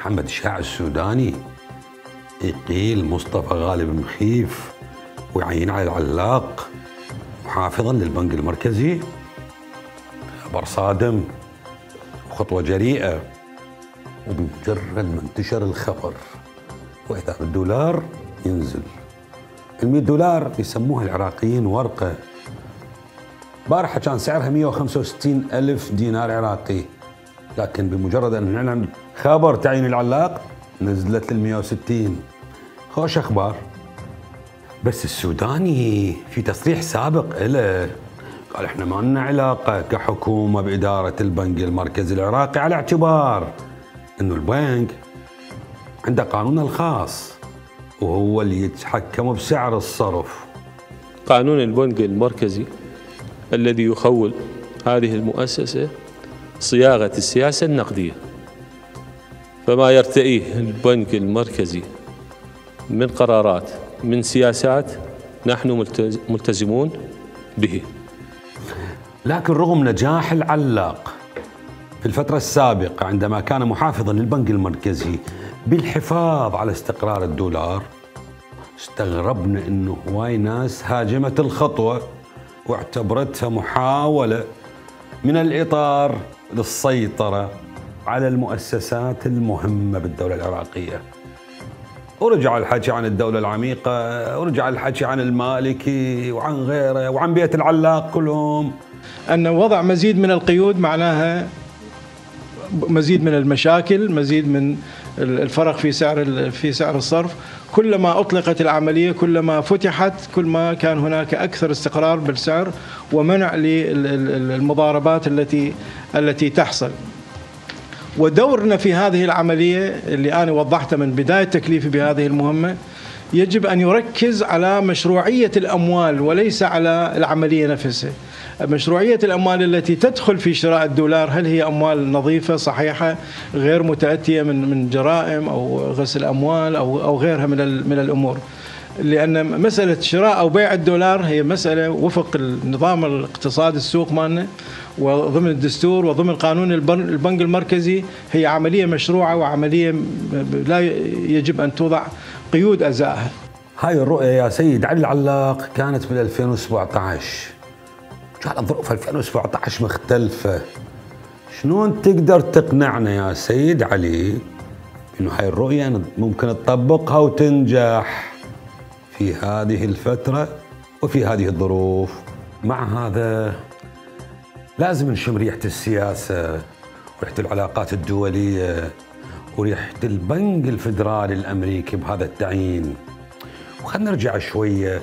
محمد الشاع السوداني يقيل مصطفى غالب مخيف ويعين علي العلاق محافظا للبنك المركزي. خبر صادم وخطوة جريئة، وبمجرد ما انتشر الخبر وإذا بالدولار ينزل. $100 يسموها العراقيين ورقة. بارحة كان سعرها 165 ألف دينار عراقي، لكن بمجرد أن نعلن خبر تعيين العلاق نزلت لل 160. خوش أخبار. بس السوداني في تصريح سابق له قال احنا ما لنا علاقة كحكومة بإدارة البنك المركزي العراقي، على اعتبار انه البنك عنده قانونه الخاص وهو اللي يتحكم بسعر الصرف. قانون البنك المركزي الذي يخول هذه المؤسسة صياغة السياسة النقدية، فما يرتئيه البنك المركزي من قرارات من سياسات نحن ملتزمون به. لكن رغم نجاح العلاق في الفترة السابقة عندما كان محافظا للبنك المركزي بالحفاظ على استقرار الدولار، استغربنا انه هواي ناس هاجمت الخطوة واعتبرتها محاولة من الإطار للسيطرة على المؤسسات المهمة بالدولة العراقية. ورجع الحكي عن الدولة العميقة، ورجع الحكي عن المالكي وعن غيره وعن بيت العلاق كلهم. أن وضع مزيد من القيود معناها مزيد من المشاكل، مزيد من الفرق في سعر الصرف. كلما أطلقت العملية كلما فتحت كل ما كان هناك أكثر استقرار بالسعر ومنع للمضاربات التي تحصل. ودورنا في هذه العملية اللي أنا وضحتها من بداية تكليفي بهذه المهمة يجب أن يركز على مشروعية الأموال وليس على العملية نفسها. مشروعية الأموال التي تدخل في شراء الدولار، هل هي أموال نظيفة صحيحة غير متأتية من جرائم أو غسل أموال أو غيرها من الأمور. لأن مسألة شراء أو بيع الدولار هي مسألة وفق النظام الاقتصادي السوق مالنا وضمن الدستور وضمن قانون البنك المركزي، هي عملية مشروعة وعملية لا يجب أن توضع قيود أزائها. هاي الرؤية يا سيد علي العلاق كانت بال 2017. كانت ظروف 2017 مختلفة. شلون تقدر تقنعنا يا سيد علي إنه هاي الرؤية ممكن تطبقها وتنجح في هذه الفترة وفي هذه الظروف؟ مع هذا لازم نشم ريحة السياسة وريحة العلاقات الدولية وريحة البنك الفدرالي الأمريكي بهذا التعيين. وخلنا نرجع شوية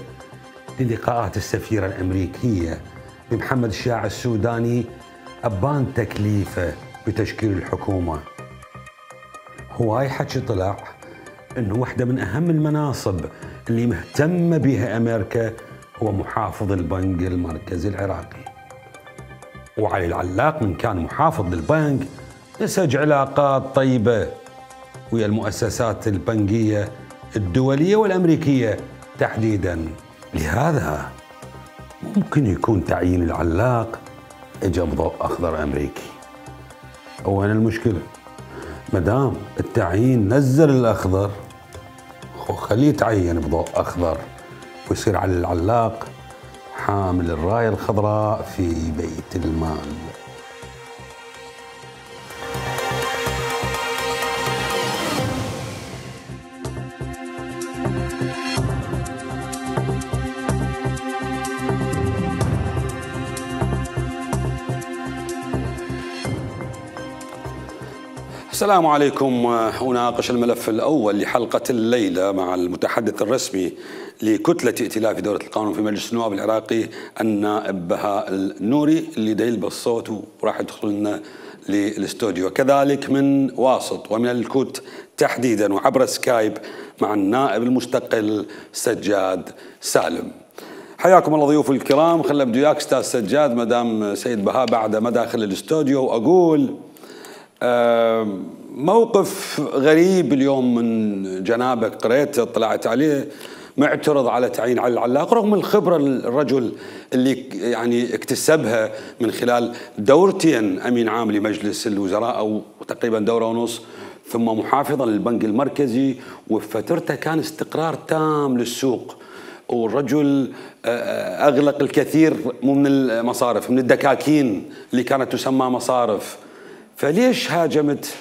للقاءات السفيرة الأمريكية بمحمد الشاع السوداني أبان تكليفه بتشكيل الحكومة. هواي حكي طلع إنه واحدة من أهم المناصب اللي مهتمة بها أمريكا هو محافظ البنك المركزي العراقي. وعلي العلاق من كان محافظ للبنك نسج علاقات طيبة ويا المؤسسات البنكية الدولية والأمريكية تحديداً. لهذا ممكن يكون تعيين العلاق اجى بضوء أخضر أمريكي. وين المشكلة؟ مدام التعيين نزل الأخضر خليه يتعين بضوء أخضر ويصير علي العلاق حامل الراية الخضراء في بيت المال. السلام عليكم. أناقش الملف الأول لحلقة الليلة مع المتحدث الرسمي لكتلة ائتلاف دولة القانون في مجلس النواب العراقي النائب بهاء النوري اللي دا يلبس صوت وراح يدخل لنا للاستوديو، كذلك من واسط ومن الكوت تحديدا وعبر سكايب مع النائب المستقل سجاد سالم. حياكم الله ضيوف الكرام. خل ابدو وياك استاذ سجاد مدام سيد بهاء بعد ما داخل الاستوديو، واقول موقف غريب اليوم من جنابك قريته اطلعت عليه، معترض على تعيين علي العلاق رغم الخبرة الرجل اللي يعني اكتسبها من خلال دورتين أمين عام لمجلس الوزراء أو تقريبا دورة ونص ثم محافظا للبنك المركزي، وفي فترته كان استقرار تام للسوق، والرجل أغلق الكثير من المصارف، من الدكاكين اللي كانت تسمى مصارف. فليش هاجمت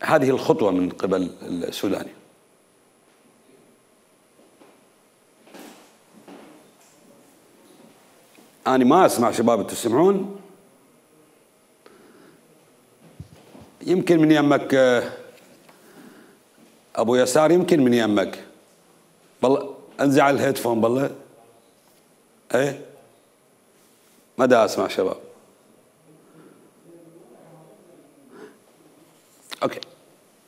هذه الخطوة من قبل السوداني؟ أنا ما أسمع شباب، تسمعون؟ يمكن من يمك أبو يسار، يمكن من يمك. بالله انزع الهيدفون بالله. ايه ما دا اسمع شباب. اوكي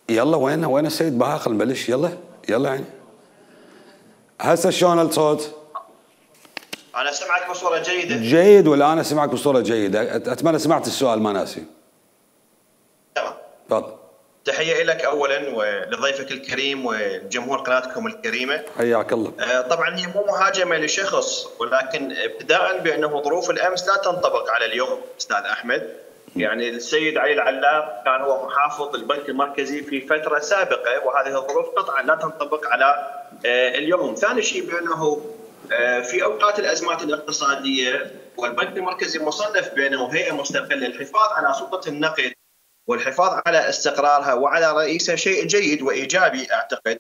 يلا وين السيد بهاء؟ خل نبلش. يلا يعني هسه شلون الصوت؟ انا سمعك بصوره جيده. جيد، ولا انا سمعك بصوره جيده؟ اتمنى سمعت السؤال ما ناسي. تمام تفضل. تحيه لك اولا ولضيفك الكريم وجمهور قناتكم الكريمه. حياك الله. طبعا هي مو مهاجمه لشخص، ولكن ابتداء بانه ظروف الامس لا تنطبق على اليوم استاذ احمد. يعني السيد علي العلاق كان هو محافظ البنك المركزي في فتره سابقه، وهذه الظروف قطعا لا تنطبق على اليوم. ثاني شيء بانه في اوقات الازمات الاقتصاديه والبنك المركزي مصنف بانه هيئه مستقله للحفاظ على سلطه النقد والحفاظ على استقرارها وعلى رئيسها شيء جيد وايجابي اعتقد،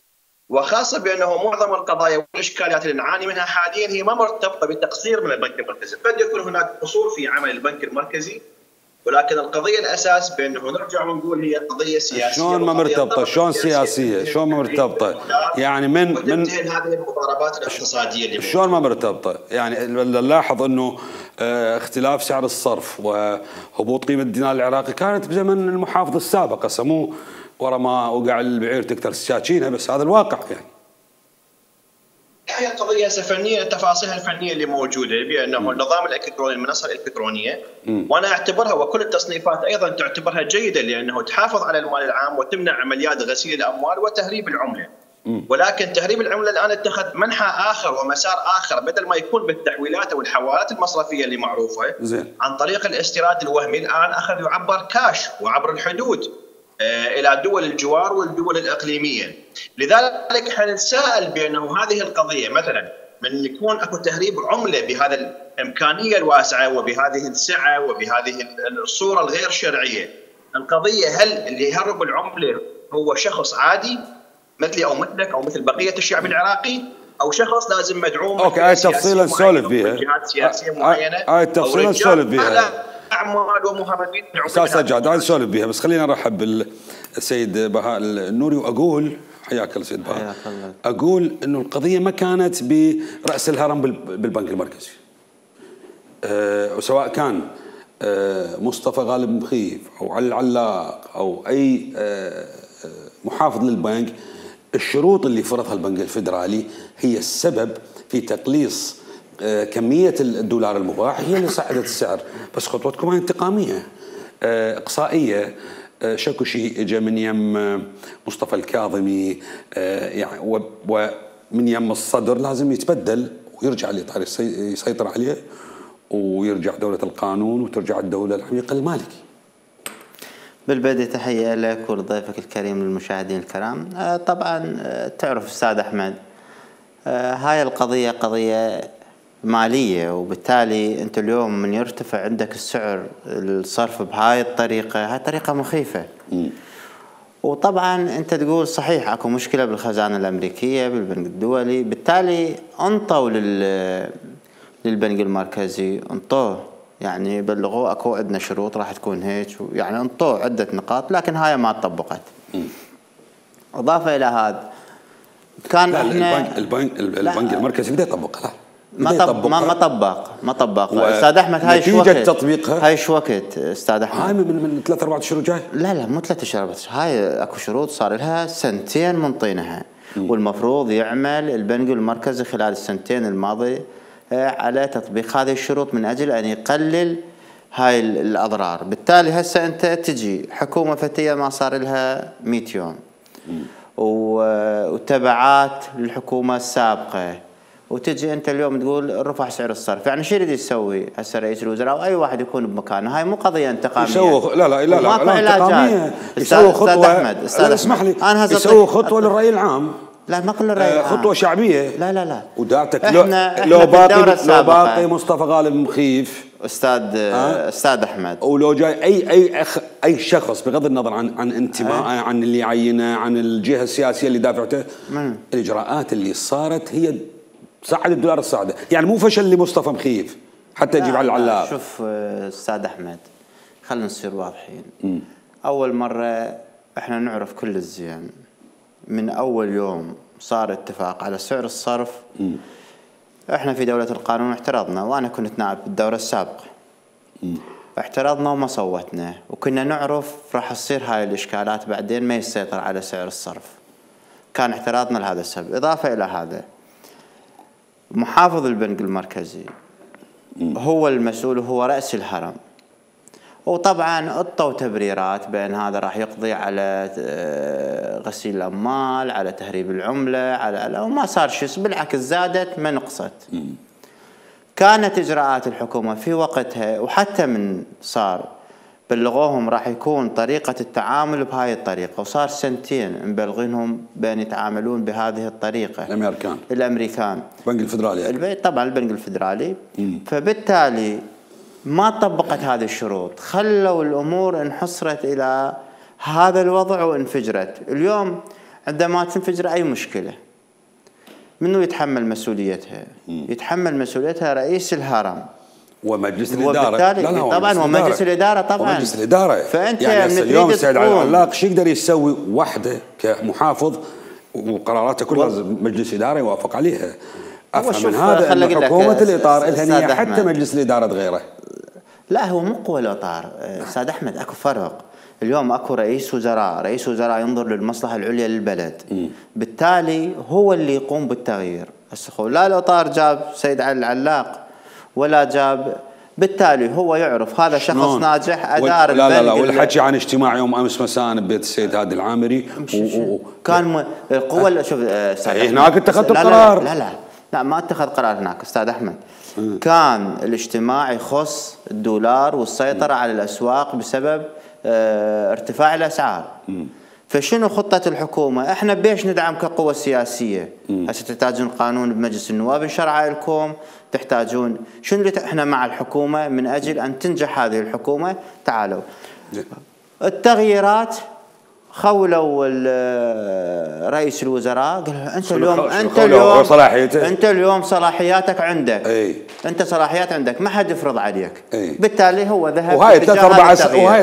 وخاصه بانه معظم القضايا والاشكاليات اللي نعاني منها حاليا هي ما مرتبطه بتقصير من البنك المركزي، قد يكون هناك قصور في عمل البنك المركزي، ولكن القضيه الاساس بانه نرجع ونقول هي قضيه سياسيه. شلون ما مرتبطه؟ شلون سياسيه؟ شلون ما مرتبطه؟ يعني من هذه المضاربات الاقتصاديه اللي شلون ما مرتبطه؟ يعني نلاحظ انه اختلاف سعر الصرف وهبوط قيمه الدينار العراقي كانت بزمن المحافظ السابق، هسه مو ورا ما وقع البعير تكثر السكاكينه، بس هذا الواقع يعني. هي القضيه فنيه، تفاصيلها الفنيه اللي موجوده بانه النظام الالكتروني، المنصه الالكترونيه، وانا اعتبرها وكل التصنيفات ايضا تعتبرها جيده لانه تحافظ على المال العام وتمنع عمليات غسيل الاموال وتهريب العمله. ولكن تهريب العمله الان اتخذ منحى اخر ومسار اخر، بدل ما يكون بالتحويلات او الحوالات المصرفيه اللي معروفه زين. عن طريق الاستيراد الوهمي، الان اخذ يعبر كاش وعبر الحدود الى دول الجوار والدول الاقليميه. لذلك حنتساءل بانه هذه القضيه مثلا من يكون اكو تهريب عمله بهذا الامكانيه الواسعه وبهذه السعه وبهذه الصوره الغير شرعيه، القضيه هل اللي يهرب العمله هو شخص عادي مثلي او مثلك او مثل بقيه الشعب العراقي، او شخص لازم مدعوم؟ اوكي هاي تفصيلا نسولف بيها. جهات سياسيه معينه. هاي تفصيلا نسولف بيها. اعمال ومهربين. استاذ سجاد هاي نسولف بيها، بس خلينا نرحب بالسيد بهاء النوري واقول حياك الله سيد بهاء. اقول انه القضيه ما كانت براس الهرم بالبنك المركزي. وسواء كان مصطفى غالب مخيف او علي العلاق او اي محافظ للبنك، الشروط اللي فرضها البنك الفدرالي هي السبب في تقليص كمية الدولار المباح، هي اللي صعدت السعر. بس خطوتكم هاي انتقامية إقصائية. شكو شيء اجى من يم مصطفى الكاظمي يعني، ومن يم الصدر لازم يتبدل ويرجع الإطار يسيطر عليه ويرجع دولة القانون وترجع الدولة العميقة المالكي. بالبدء تحية لك ولضيفك الكريم للمشاهدين الكرام. طبعا تعرف أستاذ أحمد هاي القضية قضية مالية، وبالتالي أنت اليوم من يرتفع عندك السعر الصرف بهاي الطريقة، هاي طريقة مخيفة. وطبعا أنت تقول صحيح أكو مشكلة بالخزانة الأمريكية بالبنك الدولي، بالتالي انطوا للبنك المركزي، انطوه يعني بلغوه اكو عندنا شروط راح تكون هيك، يعني انطوه عده نقاط، لكن هاي ما طبقت. اضافه الى هذا كان لا احنا البنك المركزي بده يطبقها. ما طبق استاذ احمد. هاي شو وقت تطبيقها؟ هاي شو وقت استاذ احمد؟ هاي من 3-4 شهور جاي. لا مو 3 شهور بس، هاي اكو شروط صار لها 2 سنين منطينها، والمفروض يعمل البنك المركزي خلال السنتين الماضيه على تطبيق هذه الشروط من أجل أن يقلل هاي الأضرار. بالتالي هسه أنت تجي حكومة فتية ما صار لها 100 يوم، وتبعات للحكومة السابقة، وتجي انت اليوم تقول رفع سعر الصرف، يعني شو يريد يسوي هسه رئيس الوزراء او اي واحد يكون بمكانه؟ هاي مو قضيه انتقاميه. يسوي لا ماكو علاجات. يسوي خطوه. استاذ اسمح لي، يسوي خطوه للراي العام. لا ما كل الرأي العام. خطوه شعبيه. لا ودعتك احنا لو باقي مصطفى غالب مخيف استاذ احمد، ولو جاي اي شخص بغض النظر عن انتمائه، عن اللي يعينه، عن الجهه السياسيه اللي دافعته، الاجراءات اللي صارت هي صعد الدولار الصاعده، يعني مو فشل لمصطفى مخيف حتى يجيب على العلاق. شوف استاذ احمد، خلينا نصير واضحين. اول مره احنا نعرف كل الزين، من اول يوم صار اتفاق على سعر الصرف احنا في دولة القانون احترضنا، وانا كنت نائب بالدورة السابقة. احترضنا وما صوتنا، وكنا نعرف راح تصير هاي الاشكالات بعدين ما يسيطر على سعر الصرف. كان احتراضنا لهذا السبب. اضافة الى هذا، محافظ البنك المركزي هو المسؤول وهو رأس الهرم، وطبعا اعطوا تبريرات بان هذا راح يقضي على غسيل الاموال، على تهريب العمله، على وما صار شيء، بالعكس زادت ما نقصت. كانت اجراءات الحكومه في وقتها، وحتى من صار بلغوهم راح يكون طريقه التعامل بهاي الطريقه، وصار سنتين مبلغينهم بان يتعاملون بهذه الطريقه. الامريكان البنك الفدرالي طبعا البنك الفدرالي. فبالتالي ما طبقت هذه الشروط، خلوا الأمور انحصرت إلى هذا الوضع وانفجرت. اليوم عندما تنفجر أي مشكلة منو يتحمل مسؤوليتها؟ يتحمل مسؤوليتها رئيس الهرم ومجلس الإدارة. طبعا ومجلس الإدارة طبعا ومجلس الإدارة. فأنت يعني اليوم السيد علي العلاق شو يقدر يسوي وحده كمحافظ وقراراته كلها مجلس إدارة يوافق عليها؟ أفهم من هذا أن حكومة الإطار لها نية حتى مجلس الإدارة غيره. لا هو مو قوى الإطار أستاذ أحمد، أكو فرق. اليوم أكو رئيس وزراء ينظر للمصلحة العليا للبلد، بالتالي هو اللي يقوم بالتغيير. لا الإطار جاب سيد علي العلاق ولا جاب، بالتالي هو يعرف هذا شخص ناجح أدار لا والحكي عن اجتماع يوم أمس مساء ببيت السيد هادي العامري كان القوة. شوف هناك اتخذت القرار. لا ما اتخذ قرار هناك استاذ احمد. كان الاجتماع يخص الدولار والسيطرة على الاسواق بسبب ارتفاع الاسعار. فشنو خطة الحكومة؟ احنا بيش ندعم كقوة سياسية. هسه تحتاجون قانون بمجلس النواب نشرعه لكم، تحتاجون شنو اللي احنا مع الحكومة من اجل ان تنجح هذه الحكومة. تعالوا التغييرات، خولوا رئيس الوزراء قال انت اليوم صلاحياتك عندك. انت صلاحيات عندك ما حد يفرض عليك. بالتالي هو ذهب وهاي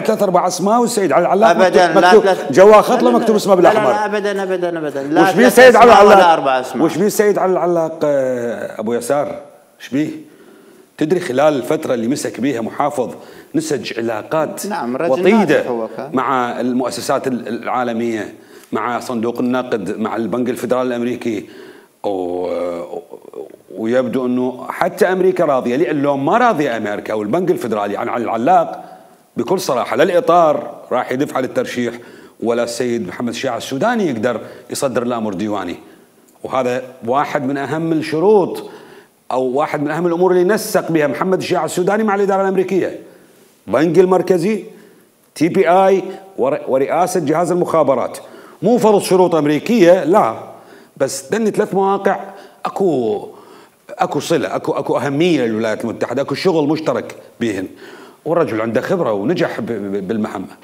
3-4 اسماء، والسيد علي العلاق ابدا جوا خط له مكتوب اسمه بالاحمر. لا ابدا وش بيه سيد علي العلاق؟ وش بيه سيد علي العلاق ابو يسار؟ ايش بيه؟ تدري خلال الفترة اللي مسك بيها محافظ نسج علاقات وطيدة مع المؤسسات العالمية، مع صندوق النقد، مع البنك الفدرالي الأمريكي، ويبدو أنه حتى أمريكا راضية. لأن لو ما راضية أمريكا والبنك الفدرالي عن العلاق بكل صراحة، لا الإطار راح يدفع للترشيح ولا السيد محمد الشيع السوداني يقدر يصدر الأمر ديواني. وهذا واحد من أهم الشروط أو واحد من أهم الأمور اللي نسق بها محمد الشيع السوداني مع الإدارة الأمريكية. بنك المركزي، TPI، ورئاسة جهاز المخابرات. مو فرض شروط أمريكية، لا، بس دني 3 مواقع أكو صلة، أكو أهمية للولايات المتحدة، أكو شغل مشترك بهن، والرجل عنده خبرة ونجح بالمهمة.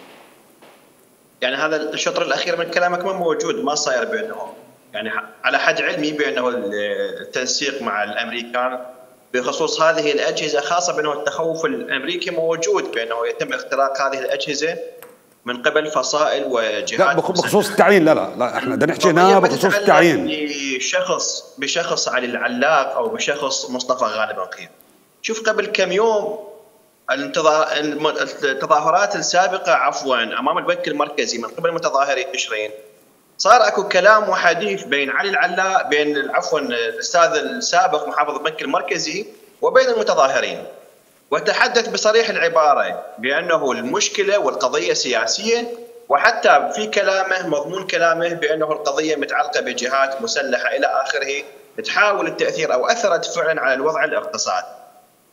يعني هذا الشطر الأخير من كلامك ما موجود، ما صاير بينهم. يعني على حد علمي بأنه التنسيق مع الأمريكان بخصوص هذه الأجهزة، خاصة بأنه التخوف الأمريكي موجود بأنه يتم اختراق هذه الأجهزة من قبل فصائل وجهات. لا بخصوص التعيين، لا احنا بدنا نحكي هنا بخصوص التعيين بشخص علي العلاق أو بشخص مصطفى غالب مخيف. شوف قبل كم يوم التظاهرات السابقة أمام البنك المركزي من قبل متظاهري تشرين، صار اكو كلام وحديث بين علي العلاق الاستاذ السابق محافظ البنك المركزي وبين المتظاهرين، وتحدث بصريح العباره بانه المشكله والقضيه سياسيه، وحتى في كلامه مضمون كلامه بانه القضيه متعلقه بجهات مسلحه الى اخره تحاول التاثير او اثرت فعلا على الوضع الاقتصادي.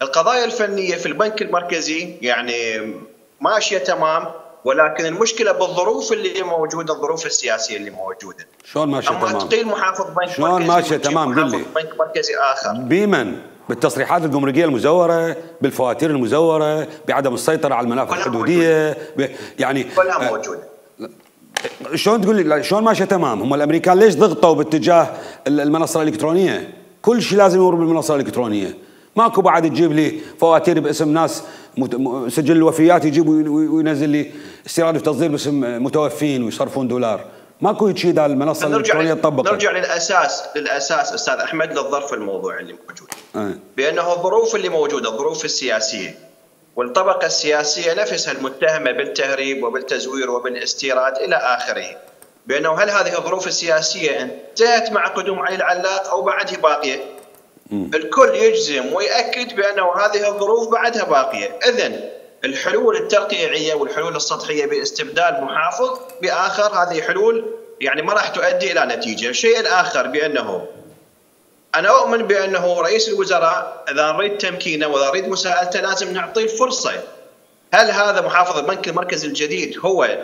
القضايا الفنيه في البنك المركزي يعني ماشيه تمام، ولكن المشكله بالظروف اللي موجوده، الظروف السياسيه اللي موجوده. شلون ماشيه تمام؟ اما تقيل محافظ بنك مركزي، شلون ماشيه تمام؟ قل لي. بنك مركزي اخر بمن؟ بالتصريحات الجمركيه المزوره، بالفواتير المزوره، بعدم السيطره على المنافذ الحدوديه، يعني كلها موجوده. شلون تقول لي شلون ماشيه تمام؟ هم الامريكان ليش ضغطوا باتجاه المنصه الالكترونيه؟ كل شيء لازم يمر بالمنصه الالكترونيه، ماكو بعد تجيب لي فواتير باسم ناس سجل الوفيات يجيب وينزل لي استيراد وتصدير باسم متوفين ويصرفون دولار، ماكو شيء اذا المنصه الالكترونيه تطبقت. نرجع للاساس استاذ احمد، للظرف الموضوعي اللي موجود. بانه الظروف اللي موجوده، الظروف السياسيه والطبقه السياسيه نفسها المتهمه بالتهريب وبالتزوير وبالاستيراد الى اخره، بانه هل هذه الظروف السياسيه انتهت مع قدوم علي العلاق او بعدها باقيه؟ الكل يجزم ويأكد بأنه هذه الظروف بعدها باقية. إذن الحلول الترقيعية والحلول السطحية باستبدال محافظ بآخر، هذه حلول يعني ما راح تؤدي إلى نتيجة. الشيء الآخر بأنه أنا أؤمن بأنه رئيس الوزراء إذا نريد تمكينه وإذا نريد مساءلته لازم نعطيه الفرصة. هل هذا محافظ البنك المركزي الجديد هو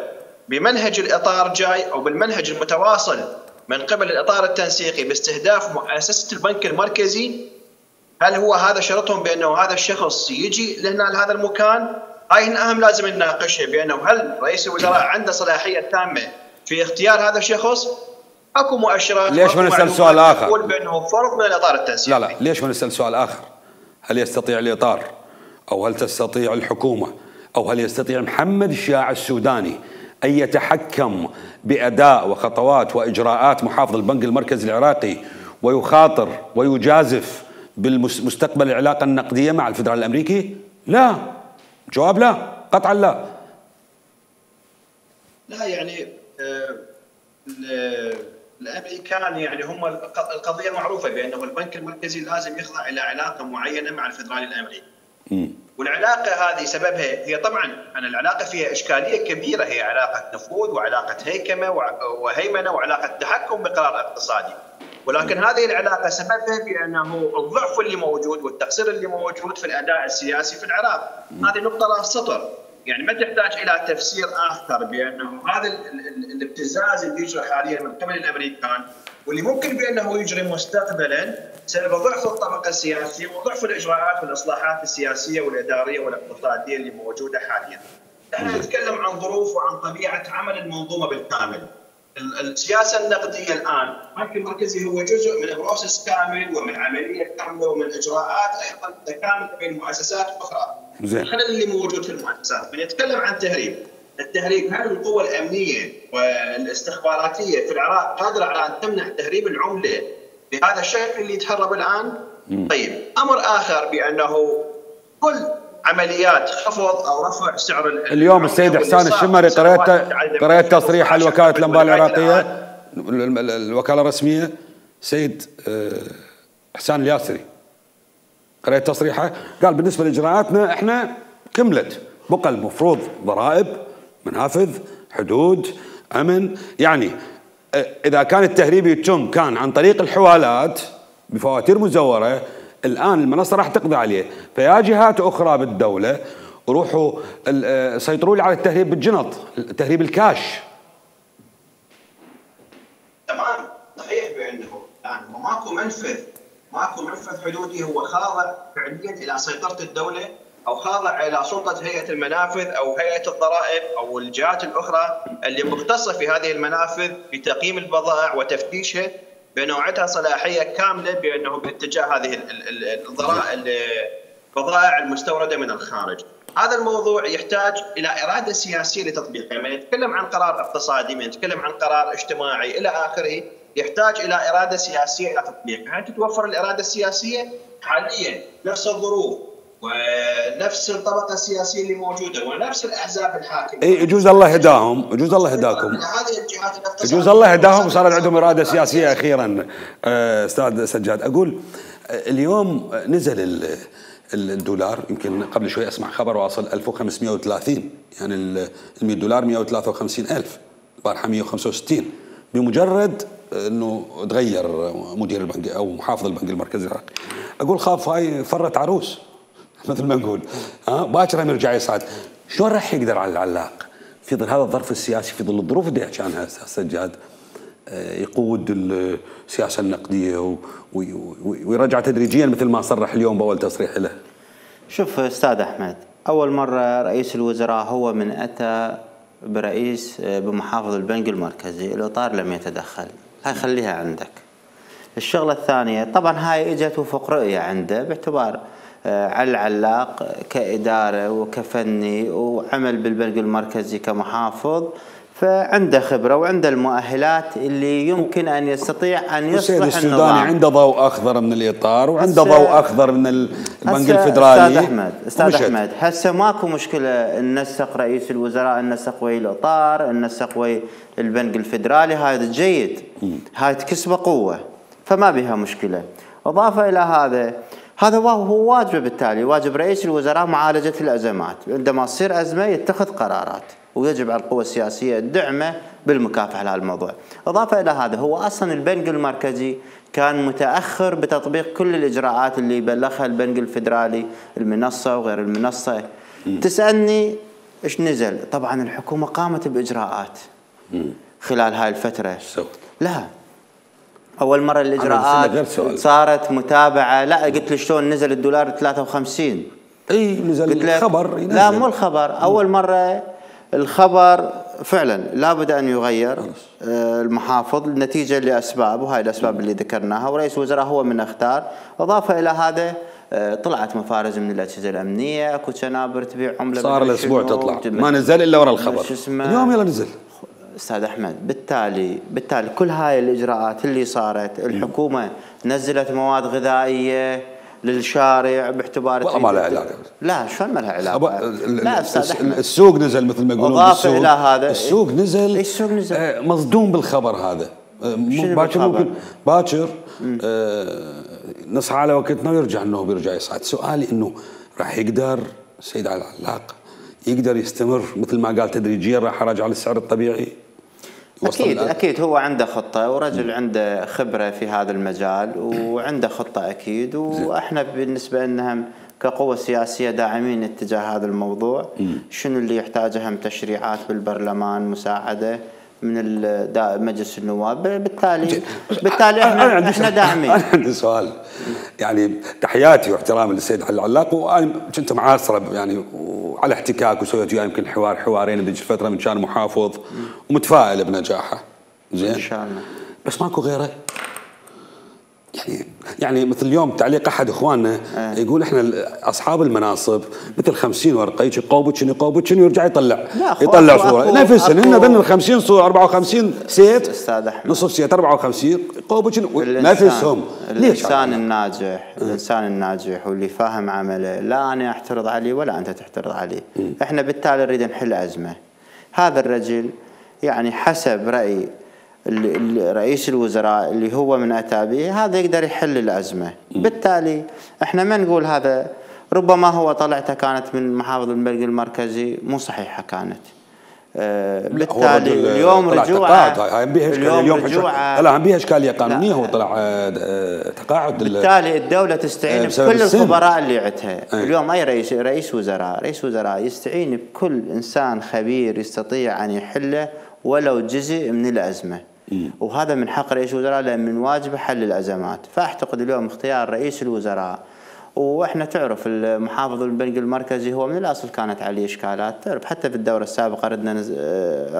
بمنهج الإطار جاي أو بالمنهج المتواصل من قبل الإطار التنسيقي باستهداف مؤسسة البنك المركزي؟ هل هو هذا شرطهم بأنه هذا الشخص يجي لهنا لهذا المكان؟ هاي أهم لازم نناقشها، بأنه هل رئيس الوزراء عنده صلاحية تامة في اختيار هذا الشخص؟ اكو مؤشرات. ليش ما نسأل سؤال آخر؟ يقول بأنه فرض من الإطار التنسيقي. لا ليش ما نسأل سؤال آخر؟ هل يستطيع الإطار أو هل تستطيع الحكومة أو هل يستطيع محمد الشياع السوداني أن يتحكم بأداء وخطوات وإجراءات محافظ البنك المركزي العراقي ويخاطر ويجازف بالمستقبل العلاقة النقدية مع الفدرالي الأمريكي؟ لا، جواب لا، قطعا لا. لا يعني الأمريكان يعني هم القضية معروفة بأنه البنك المركزي لازم يخضع إلى علاقة معينة مع الفدرالي الأمريكي. والعلاقة هذه سببها هي طبعا أن العلاقة فيها إشكالية كبيرة، هي علاقة نفوذ وعلاقة هيكمة وهيمنة وعلاقة تحكم بقرار اقتصادي. ولكن هذه العلاقة سببها بأنه الضعف اللي موجود والتقصير اللي موجود في الأداء السياسي في العراق. هذه نقطة راس سطر، يعني ما تحتاج إلى تفسير آخر بأنه هذا الابتزاز اللي يجري حاليا من قبل الأمريكان واللي ممكن بأنه يجري مستقبلا سبب ضعف الطبقة السياسية وضعف الإجراءات والإصلاحات السياسية والإدارية والاقتصادية اللي موجودة حاليا. نحن نتكلم عن ظروف وعن طبيعة عمل المنظومة بالكامل. السياسة النقدية الآن البنك المركزي هو جزء من بروسس كامل ومن عملية كاملة ومن إجراءات أيضا متكاملة بين مؤسسات أخرى. الخلل اللي موجود في المؤسسات، من يتكلم عن التهريب، هل القوى الأمنية والاستخباراتية في العراق قادرة على أن تمنع تهريب العملة بهذا الشكل اللي يتهرب الآن؟ طيب، أمر آخر بأنه كل عمليات خفض أو رفع سعر اليوم السيد إحسان الشمري قرأت تصريح وكالة الأنباء العراقية الوكالة الرسمية سيد إحسان الياسري، قرأت تصريحه قال بالنسبة لإجراءاتنا إحنا كملت، بقى المفروض ضرائب، منافذ، حدود، أمن. يعني إذا كان التهريب يتم كان عن طريق الحوالات بفواتير مزورة، الآن المنصة راح تقضي عليه، فيا جهات أخرى بالدولة روحوا سيطروا لي على التهريب بالجنط، التهريب الكاش. تمام، صحيح بأنه الآن ماكو منفذ حدودي هو خاضع فعليا إلى سيطرة الدولة أو خاضع إلى سلطة هيئة المنافذ أو هيئة الضرائب أو الجهات الأخرى اللي مختصة في هذه المنافذ بتقييم البضائع وتفتيشها، بأنه عندها صلاحية كاملة بأنه باتجاه هذه البضائع المستوردة من الخارج. هذا الموضوع يحتاج إلى إرادة سياسية لتطبيقه. من يتكلم عن قرار اقتصادي، من يتكلم عن قرار اجتماعي إلى آخره، يحتاج إلى إرادة سياسية إلى تطبيقه. هل تتوفر الإرادة السياسية؟ حاليا نفس الظروف ونفس الطبقة السياسية اللي موجودة ونفس الأحزاب الحاكمة. يجوز الله يهداهم، يجوز الله يهداكم، يجوز الله يهداهم وصار عندهم إرادة سياسية أخيرا. أستاذ سجاد، أقول اليوم نزل الدولار، يمكن قبل شوي أسمع خبر واصل 1530، يعني $100 153,000، البارحة 165. بمجرد انه تغير مدير البنك او محافظ البنك المركزي العراقي. اقول خاف هاي فرت عروس مثل ما نقول، باكر هم يرجع يصعد. شلون راح يقدر على العلاق في ظل هذا الظرف السياسي، في ظل الظروف اللي يحكي عنها استاذ سجاد، يقود السياسه النقديه ويرجع تدريجيا مثل ما صرح اليوم باول تصريح له؟ شوف استاذ احمد، اول مره رئيس الوزراء هو من اتى بمحافظ البنك المركزي، الاطار لم يتدخل، هاي خليها عندك. الشغله الثانيه طبعا هاي اجت وفق رؤيه عنده باعتبار علي العلاق كاداره وكفني وعمل بالبنك المركزي كمحافظ، فعنده خبره وعنده المؤهلات اللي يمكن ان يستطيع ان يصلح السوداني عنده ضوء اخضر من الاطار وعنده ضوء اخضر من البنك الفدرالي. استاذ احمد هسه ماكو مشكله ننسق رئيس الوزراء، ننسق ويا الاطار، ننسق ويا البنك الفدرالي، هذا جيد، هاي تكسبه قوه فما بها مشكله. اضافه الى هذا هو واجبه، بالتالي واجب رئيس الوزراء معالجه الازمات، عندما تصير ازمه يتخذ قرارات، ويجب على القوى السياسيه الدعمه بالمكافحه على الموضوع. اضافه الى هذا هو اصلا البنك المركزي كان متاخر بتطبيق كل الاجراءات اللي بلغها البنك الفدرالي، المنصه وغير المنصه. تسالني ايش نزل؟ طبعا الحكومه قامت باجراءات خلال هاي الفتره. لا اول مره الاجراءات صارت متابعه، لا قلت له شلون نزل الدولار 53؟ اي نزل الخبر، لا مو الخبر، اول مره الخبر فعلا لابد ان يغير المحافظ نتيجه لاسباب، وهاي الاسباب اللي ذكرناها، ورئيس الوزراء هو من اختار. اضافه الى هذا طلعت مفارز من الاجهزه الامنيه، اكو شنابر تبيع عمله، صار الاسبوع تطلع ما نزل الا ورا الخبر، اليوم يلا نزل. استاذ احمد بالتالي كل هاي الاجراءات اللي صارت، الحكومه نزلت مواد غذائيه للشارع باعتبار والله ما لها علاقه. لا شلون ما لها علاقه؟ لا استاذ احمد السوق نزل مثل ما يقولون. اضافه الى هذا السوق نزل. السوق نزل مصدوم بالخبر هذا. باكر ممكن باكر نصحى على وقتنا ويرجع انه بيرجع يصعد. سؤالي انه راح يقدر السيد علي العلاق يقدر يستمر مثل ما قال تدريجيا راح يرجع للسعر الطبيعي؟ اكيد هو عنده خطه، ورجل عنده خبره في هذا المجال وعنده خطه اكيد، واحنا بالنسبه لنا كقوه سياسيه داعمين اتجاه هذا الموضوع. شنو اللي يحتاجه هم تشريعات بالبرلمان، مساعده من مجلس النواب، بالتالي احنا داعمين. انا عندي سؤال، يعني تحياتي واحترامي للسيد علي العلاق، وانا كنت معاصره يعني وعلى احتكاك، وسويت وياه يمكن حوارين بذيك الفتره من كان محافظ، ومتفائل بنجاحه. زين ان شاء الله. بس ماكو غيره. يعني مثل اليوم تعليق احد اخواننا يقول احنا اصحاب المناصب مثل 50 ورقه يجي يقوبتشن ويرجع يطلع صوره نفسهن، هن ذن ال 50 صوره 54 سيت استاذ احمد، نصف سيت 54 يقوبتشن نفسهم. ليش؟ الانسان الناجح واللي فاهم عمله، لا انا احترض عليه ولا انت تحترض عليه. احنا بالتالي نريد نحل ازمه. هذا الرجل يعني حسب راي رئيس الوزراء اللي هو من اتى به، هذا يقدر يحل الازمه. بالتالي احنا ما نقول هذا، ربما هو طلعته كانت من محافظ البنك المركزي مو صحيحه كانت. بالتالي اليوم رجوعه لا بيها اشكاليه قانونيه، هو طلع تقاعد. بالتالي الدوله تستعين بكل الخبراء اللي عندها. اليوم اي رئيس وزراء يستعين بكل انسان خبير يستطيع ان يحله ولو جزء من الازمه، وهذا من حق رئيس الوزراء لان من واجبه حل الازمات. فاعتقد اليوم اختيار رئيس الوزراء، واحنا تعرف المحافظ البنك المركزي هو من الاصل كانت عليه اشكالات، تعرف حتى في الدوره السابقه ردنا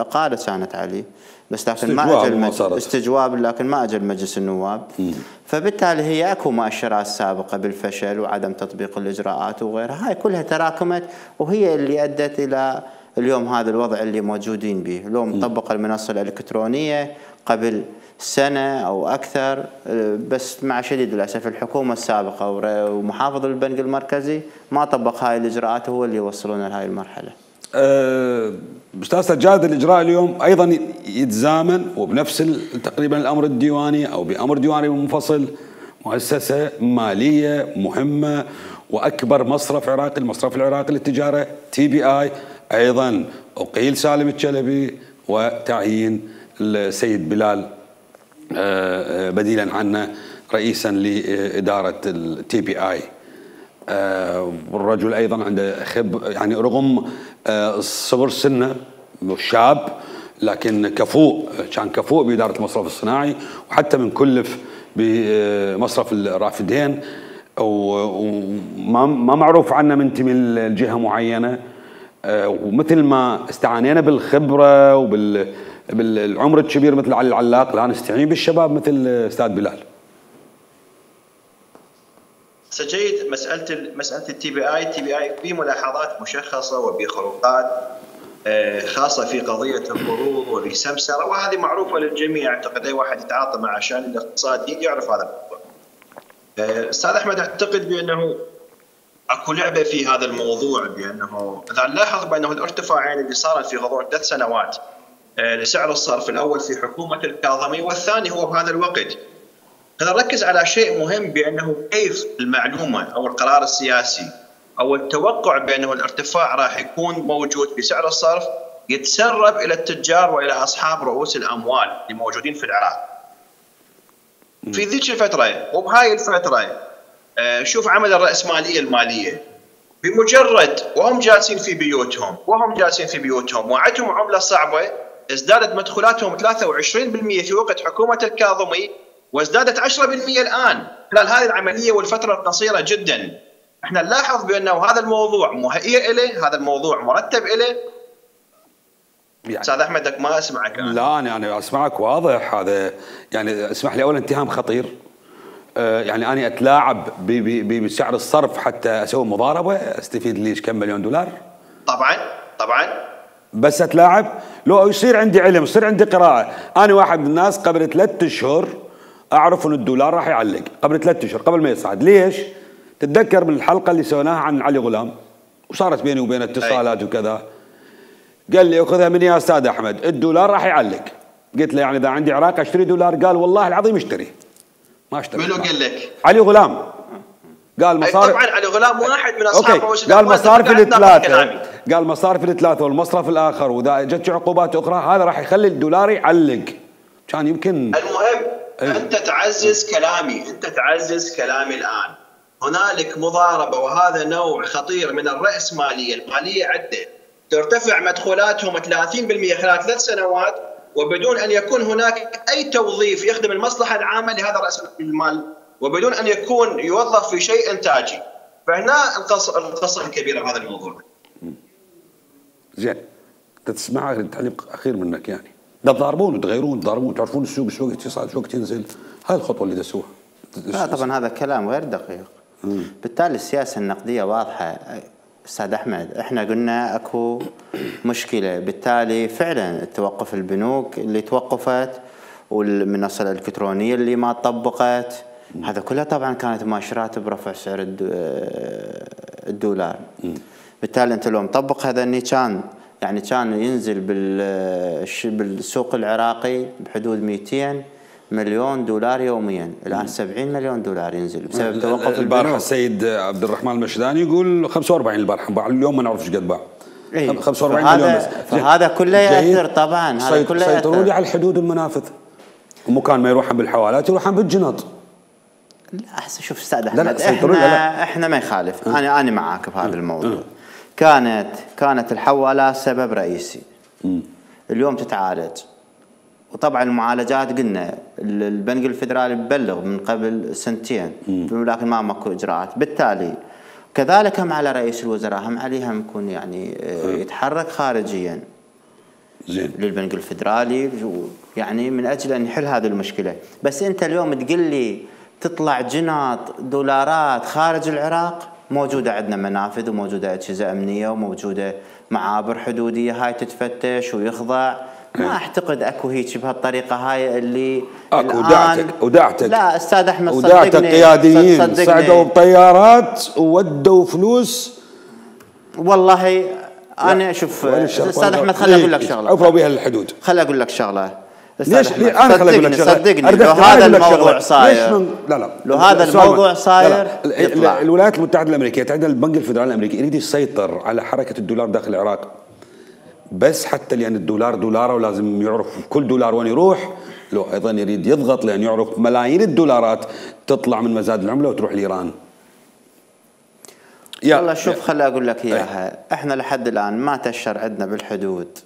اقاله كانت عليه، بس لكن ما اجى استجواب، لكن ما اجى مجلس النواب. فبالتالي هي اكو مؤشرات سابقه بالفشل وعدم تطبيق الاجراءات وغيرها، هاي كلها تراكمت وهي اللي ادت الى اليوم هذا الوضع اللي موجودين به. اليوم طبق المنصه الالكترونيه قبل سنه او اكثر، بس مع شديد الاسف الحكومه السابقه ومحافظ البنك المركزي ما طبق هاي الاجراءات، هو اللي وصلونا لهاي المرحله. استاذ سجاد، الاجراء اليوم ايضا يتزامن وبنفس تقريبا الامر الديواني او بامر ديواني منفصل، مؤسسه ماليه مهمه واكبر مصرف عراقي، المصرف العراقي للتجاره TBI، ايضا اقيل سالم الشلبي وتعيين السيد بلال بديلا عنه رئيسا لإدارة التي بي آي. والرجل أيضا عنده يعني رغم صغر سنه شاب، لكن كان كفؤ بإدارة المصرف الصناعي، وحتى من كلف بمصرف الرافدين، وما معروف عنه منتمي لجهة معينة. ومثل ما استعانينا بالخبرة وبالعمر الكبير مثل علي العلاق، لا نستعين بالشباب مثل أستاذ بلال. جيد. مسألة التي بي آي في ملاحظات مشخصة وبخروقات خاصة في قضية القروض وبسمسرة، وهذه معروفة للجميع. أعتقد أي واحد يتعاطى مع الشأن الاقتصادي يعرف هذا الموضوع. أستاذ أحمد، أعتقد بأنه اكو لعبة في هذا الموضوع، بأنه إذا نلاحظ بأنه الارتفاعين اللي صارت في غضون 3 سنوات لسعر الصرف، الأول في حكومة الكاظمي والثاني هو بهذا الوقت. أنا نركز على شيء مهم، بأنه كيف المعلومة أو القرار السياسي أو التوقع بأنه الارتفاع راح يكون موجود في سعر الصرف يتسرب إلى التجار وإلى أصحاب رؤوس الأموال اللي موجودين في العراق. في ذيك الفترة وبهاي الفترة شوف عمل الرأسمالية المالية، بمجرد وهم جالسين في بيوتهم وعندهم عملة صعبة، ازدادت مدخولاتهم 23% في وقت حكومة الكاظمي، وازدادت 10% الآن خلال هذه العملية والفترة القصيرة جدا. احنا نلاحظ بأنه هذا الموضوع مهيئ إليه، هذا الموضوع مرتب إليه. يعني أستاذ أحمد ما أسمعك أنا. لا أنا أسمعك واضح. هذا يعني اسمح لي، أولا اتهام خطير. يعني أنا أتلاعب بسعر الصرف حتى أسوي مضاربة أستفيد لي كم مليون دولار؟ طبعا بس أتلاعب. لو يصير عندي علم، يصير عندي قراءة. أنا واحد من الناس قبل 3 أشهر أعرف أن الدولار راح يعلق، قبل 3 أشهر قبل ما يصعد. ليش؟ تتذكر من الحلقة اللي سويناها عن علي غلام وصارت بيني وبين اتصالات وكذا، قال لي أخذها مني يا أستاذ أحمد، الدولار راح يعلق. قلت له يعني إذا عندي عراق أشتري دولار؟ قال والله العظيم اشتري. ما اشتري. منو قال لك؟ علي غلام. قال مصارف. طبعا علي غلام واحد من أصحاب رؤوس قال مصارف الثلاثة، قال مصارف الثلاثة والمصرف الآخر، وإذا جت عقوبات أخرى هذا راح يخلي الدولار يعلق. كان يمكن. المهم أنت تعزز كلامي الآن. هنالك مضاربة، وهذا نوع خطير من الرأسمالية المالية. عدة ترتفع مدخولاتهم 30% خلال 3 سنوات، وبدون أن يكون هناك أي توظيف يخدم المصلحة العامة لهذا رأس المال، وبدون أن يكون يوظف في شيء إنتاجي. فهنا القصة الكبيرة بهذا الموضوع. زين، تسمع تعليق أخير منك. يعني تضاربون وتغيرون، تعرفون السوق شو وقت يصعد شو وقت ينزل. هاي الخطوة اللي تسووها. لا طبعا هذا كلام غير دقيق. بالتالي السياسة النقدية واضحة أستاذ أحمد. إحنا قلنا أكو مشكلة، بالتالي فعلا توقف البنوك اللي توقفت والمنصة الإلكترونية اللي ما طبقت، هذا كلها طبعا كانت مؤشرات برفع سعر الدولار. بالتالي أنت لو مطبق هذا كان ينزل بالسوق العراقي بحدود 200 مليون دولار يوميا، الآن 70 مليون دولار ينزل بسبب توقف البارحة السيد عبد الرحمن المشداني يقول 45 البارحة، اليوم ما نعرف ايش قد باع. 45 مليون بس. فهذا كله يأثر طبعا. هذا كله سيطروا لي على الحدود والمنافذ، ومكان ما يروحون بالحوالات يروحون بالجنط. لا احسن شوف استاذ احمد، احنا ما يخالف. انا معاك بهذا الموضوع. كانت الحوالات سبب رئيسي. اليوم تتعالج، وطبعا المعالجات قلنا البنك الفدرالي ببلغ من قبل 2 سنين، لكن ما ماكو اجراءات. بالتالي كذلك هم على رئيس الوزراء، هم عليهم يكون يعني يتحرك خارجيا زين للبنك الفدرالي، يعني من اجل ان يحل هذه المشكله. بس انت اليوم تقول لي تطلع جناط دولارات خارج العراق، موجوده عندنا منافذ وموجوده اجهزه امنيه وموجوده معابر حدوديه، هاي تتفتش ويخضع. ما اعتقد اكو هيك بهالطريقه هاي اللي اكو ودعتك. لا استاذ احمد صدقني، ودعتك قياديين صعدوا بطيارات وودوا فلوس. والله انا شوف استاذ احمد، خليني اقول لك شغله. عفوا بها الحدود. خليني اقول لك شغله. ليش انا خليني اقول لك شغله؟ صدقني لو هذا الموضوع صاير، لا لو هذا الموضوع صاير الولايات المتحده الامريكيه عندها البنك الفدرالي الامريكي يريد يسيطر على حركه الدولار داخل العراق، بس حتى لان الدولار دولار ولازم يعرف كل دولار وين يروح، لو أيضا يريد يضغط لأن يعرف ملايين الدولارات تطلع من مزاد العملة وتروح لإيران. والله شوف خلي أقول لك إياها، إحنا لحد الآن ما تشر عندنا بالحدود.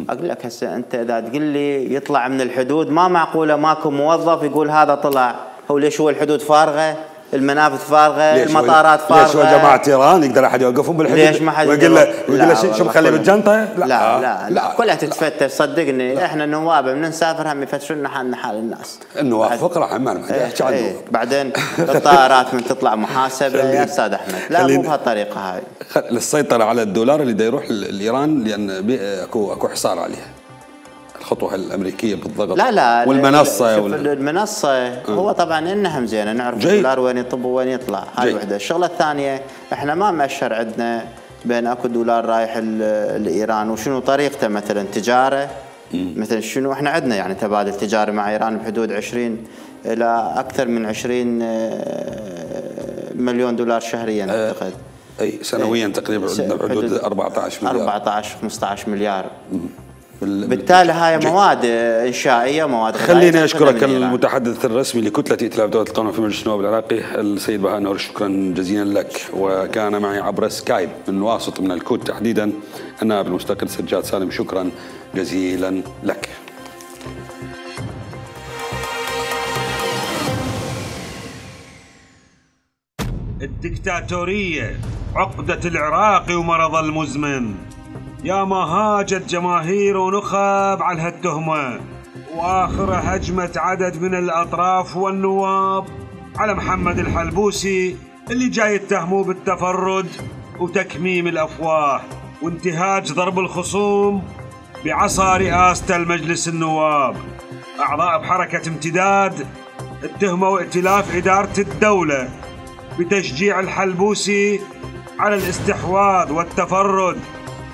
أقول لك هسه أنت إذا تقول لي يطلع من الحدود، ما معقولة ماكو موظف يقول هذا طلع. هو ليش هو الحدود فارغة؟ المنافذ فارغة، المطارات فارغة. ليش هو جماعة إيران يقدر أحد يوقفهم بالحدود؟ ليش ما حد ويقول له شو مخليه بالجنطة؟ لا كلها تتفتش صدقني. احنا النواب من نسافر هم يفتشون لنا حالنا حال الناس. النواب فقرة ما احكي عنه. بعدين الطائرات من تطلع محاسبة يا أستاذ أحمد. لا مو بهالطريقة هاي. للسيطرة على الدولار اللي دا يروح لإيران لأن اكو حصار عليها. الخطوة الأمريكية بالضغط. لا والمنصة المنصة هو طبعا إنها زينة، نعرف الدولار وين يطب وين يطلع. هاي وحدة. الشغلة الثانية احنا ما مأشر عندنا بين اكو دولار رايح لإيران وشنو طريقته، مثلا تجارة مثلا شنو. احنا عندنا يعني تبادل تجاري مع إيران بحدود 20 إلى أكثر من 20 مليون دولار شهريا أعتقد. أي سنويا تقريبا عندنا بحدود 14 مليار 15 مليار. بالتالي هاي مواد إنشائية، مواد خليني أشكرك المتحدث الرسمي لكتلة ائتلاف دولة القانون في مجلس النواب العراقي السيد بهاء نور. شكرا جزيلا لك. وكان معي عبر سكايب من واسط من الكوت تحديدا النائب المستقل سجاد سالم. شكرا جزيلا لك. الدكتاتورية عقدة العراق ومرض المزمن. يا ما هاجت جماهير ونخب على هالتهمة، وآخر هجمت عدد من الأطراف والنواب على محمد الحلبوسي اللي جاي يتهموه بالتفرد وتكميم الأفواه وانتهاج ضرب الخصوم بعصا رئاسة المجلس النواب. أعضاء بحركة امتداد اتهموا ائتلاف إدارة الدولة بتشجيع الحلبوسي على الاستحواذ والتفرد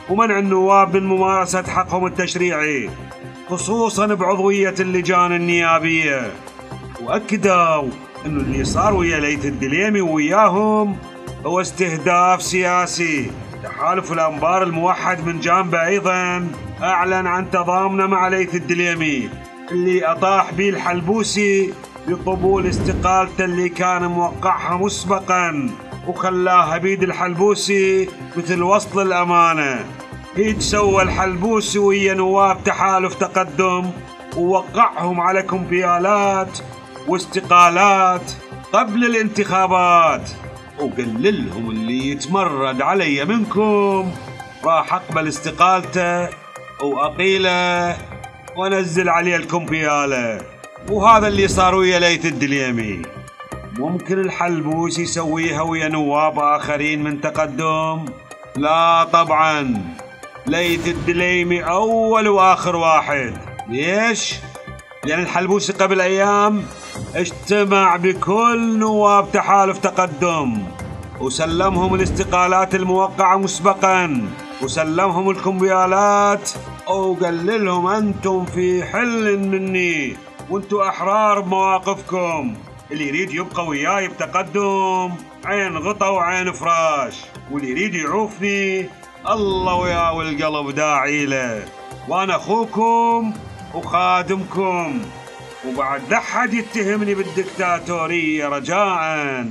ومنع النواب من ممارسة حقهم التشريعي، خصوصا بعضوية اللجان النيابية. وأكدوا أنه اللي صار ويا ليث الدليمي وياهم هو استهداف سياسي. تحالف الأنبار الموحد من جانبه أيضا أعلن عن تضامنه مع ليث الدليمي اللي أطاح به الحلبوسي بقبول استقالته اللي كان موقعها مسبقا، وخلاها بيد الحلبوسي مثل وصل الأمانة. هيج سوى الحلبوسي ويا نواب تحالف تقدم ووقعهم على كمبيالات واستقالات قبل الانتخابات، وقال لهم اللي يتمرد علي منكم راح أقبل استقالته وأقيله وأنزل عليه الكمبيالة. وهذا اللي صار ويا ليث الدليمي. ممكن الحلبوسي يسويها ويا نواب آخرين من تقدم؟ لا طبعا، ليث الدليمي أول وآخر واحد. ليش؟ لأن الحلبوسي قبل أيام اجتمع بكل نواب تحالف تقدم وسلمهم الاستقالات الموقعة مسبقا وسلمهم الكمبيالات وقال لهم أنتم في حل مني وانتم أحرار بمواقفكم. اللي يريد يبقى وياي بتقدم عين غطا وعين فراش، واللي يريد يعوفني الله وياه والقلب داعي له. وانا اخوكم وخادمكم، وبعد لا حد يتهمني بالدكتاتورية رجاءً.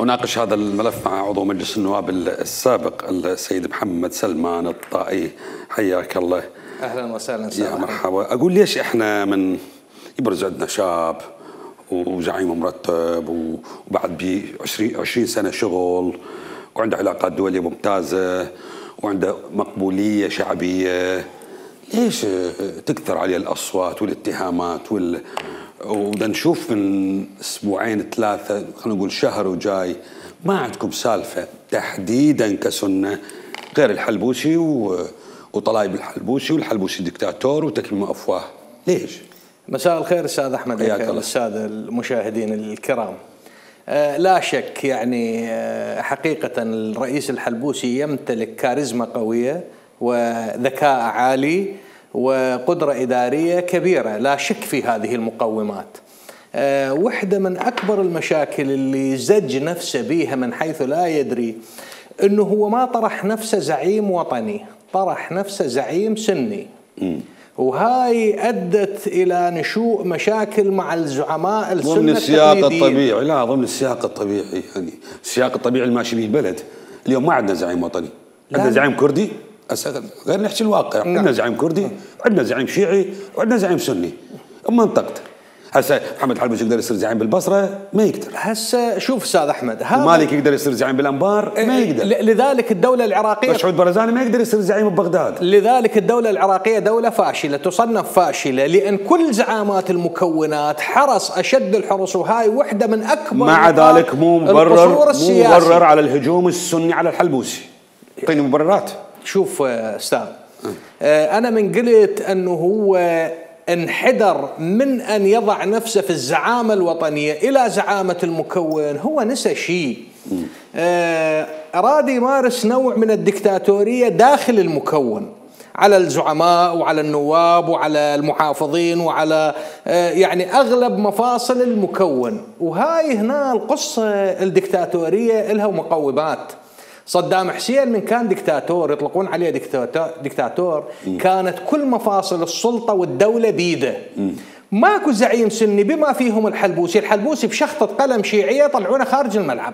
أناقش هذا الملف مع عضو مجلس النواب السابق السيد محمد سلمان الطائي. حياك الله. أهلا وسهلا. يا مرحبا. أقول ليش إحنا من يبرز عندنا شاب وزعيم مرتب وبعد ب 20 سنة شغل وعنده علاقات دولية ممتازة وعنده مقبولية شعبية، ليش تكثر عليه الأصوات والاتهامات ودا نشوف من أسبوعين 3 خلينا نقول شهر وجاي ما عندكم سالفة تحديدا كسنة غير الحلبوسي وطلايب الحلبوسي والحلبوسي دكتاتور وتكميم أفواه؟ ليش؟ مساء الخير أستاذ أحمد، السادة المشاهدين الكرام. لا شك يعني حقيقة الرئيس الحلبوسي يمتلك كاريزما قوية وذكاء عالي وقدرة إدارية كبيرة، لا شك في هذه المقومات. واحدة من أكبر المشاكل اللي زج نفسه بيها من حيث لا يدري أنه هو ما طرح نفسه زعيم وطني، طرح نفسه زعيم سني. وهاي أدت إلى نشوء مشاكل مع الزعماء السنة ضمن السياق الطبيعي. لا، ضمن السياق الطبيعي، يعني السياق الطبيعي اللي ماشي به البلد. اليوم ما عندنا زعيم وطني، عندنا زعيم كردي. غير نحكي الواقع، عندنا زعيم كردي، عندنا زعيم شيعي، وعندنا زعيم سني. منطقته هسه محمد الحلبوسي يقدر يصير زعيم بالبصره؟ ما يقدر. هسه شوف استاذ احمد، المالك يقدر يصير زعيم بالانبار؟ ما يقدر. لذلك الدوله العراقيه مسعود برزاني ما يقدر يصير زعيم ببغداد. لذلك الدوله العراقيه دوله فاشله، تصنف فاشله لان كل زعامات المكونات حرص اشد الحرص، وهاي وحده من اكبر. مع ذلك مو مبرر على الهجوم السني على الحلبوسي. اعطيني مبررات. شوف استاذ، انا من قلت انه هو انحدر من أن يضع نفسه في الزعامة الوطنية إلى زعامة المكون، هو نسى شيء. أراد يمارس نوع من الدكتاتورية داخل المكون على الزعماء وعلى النواب وعلى المحافظين وعلى يعني أغلب مفاصل المكون. وهاي هنا القصة الدكتاتورية إلها مقومات. صدام حسين من كان دكتاتور، يطلقون عليه دكتاتور، كانت كل مفاصل السلطة والدولة بيده. ماكو زعيم سني بما فيهم الحلبوسي بشخطة قلم شيعية طلعونه خارج الملعب.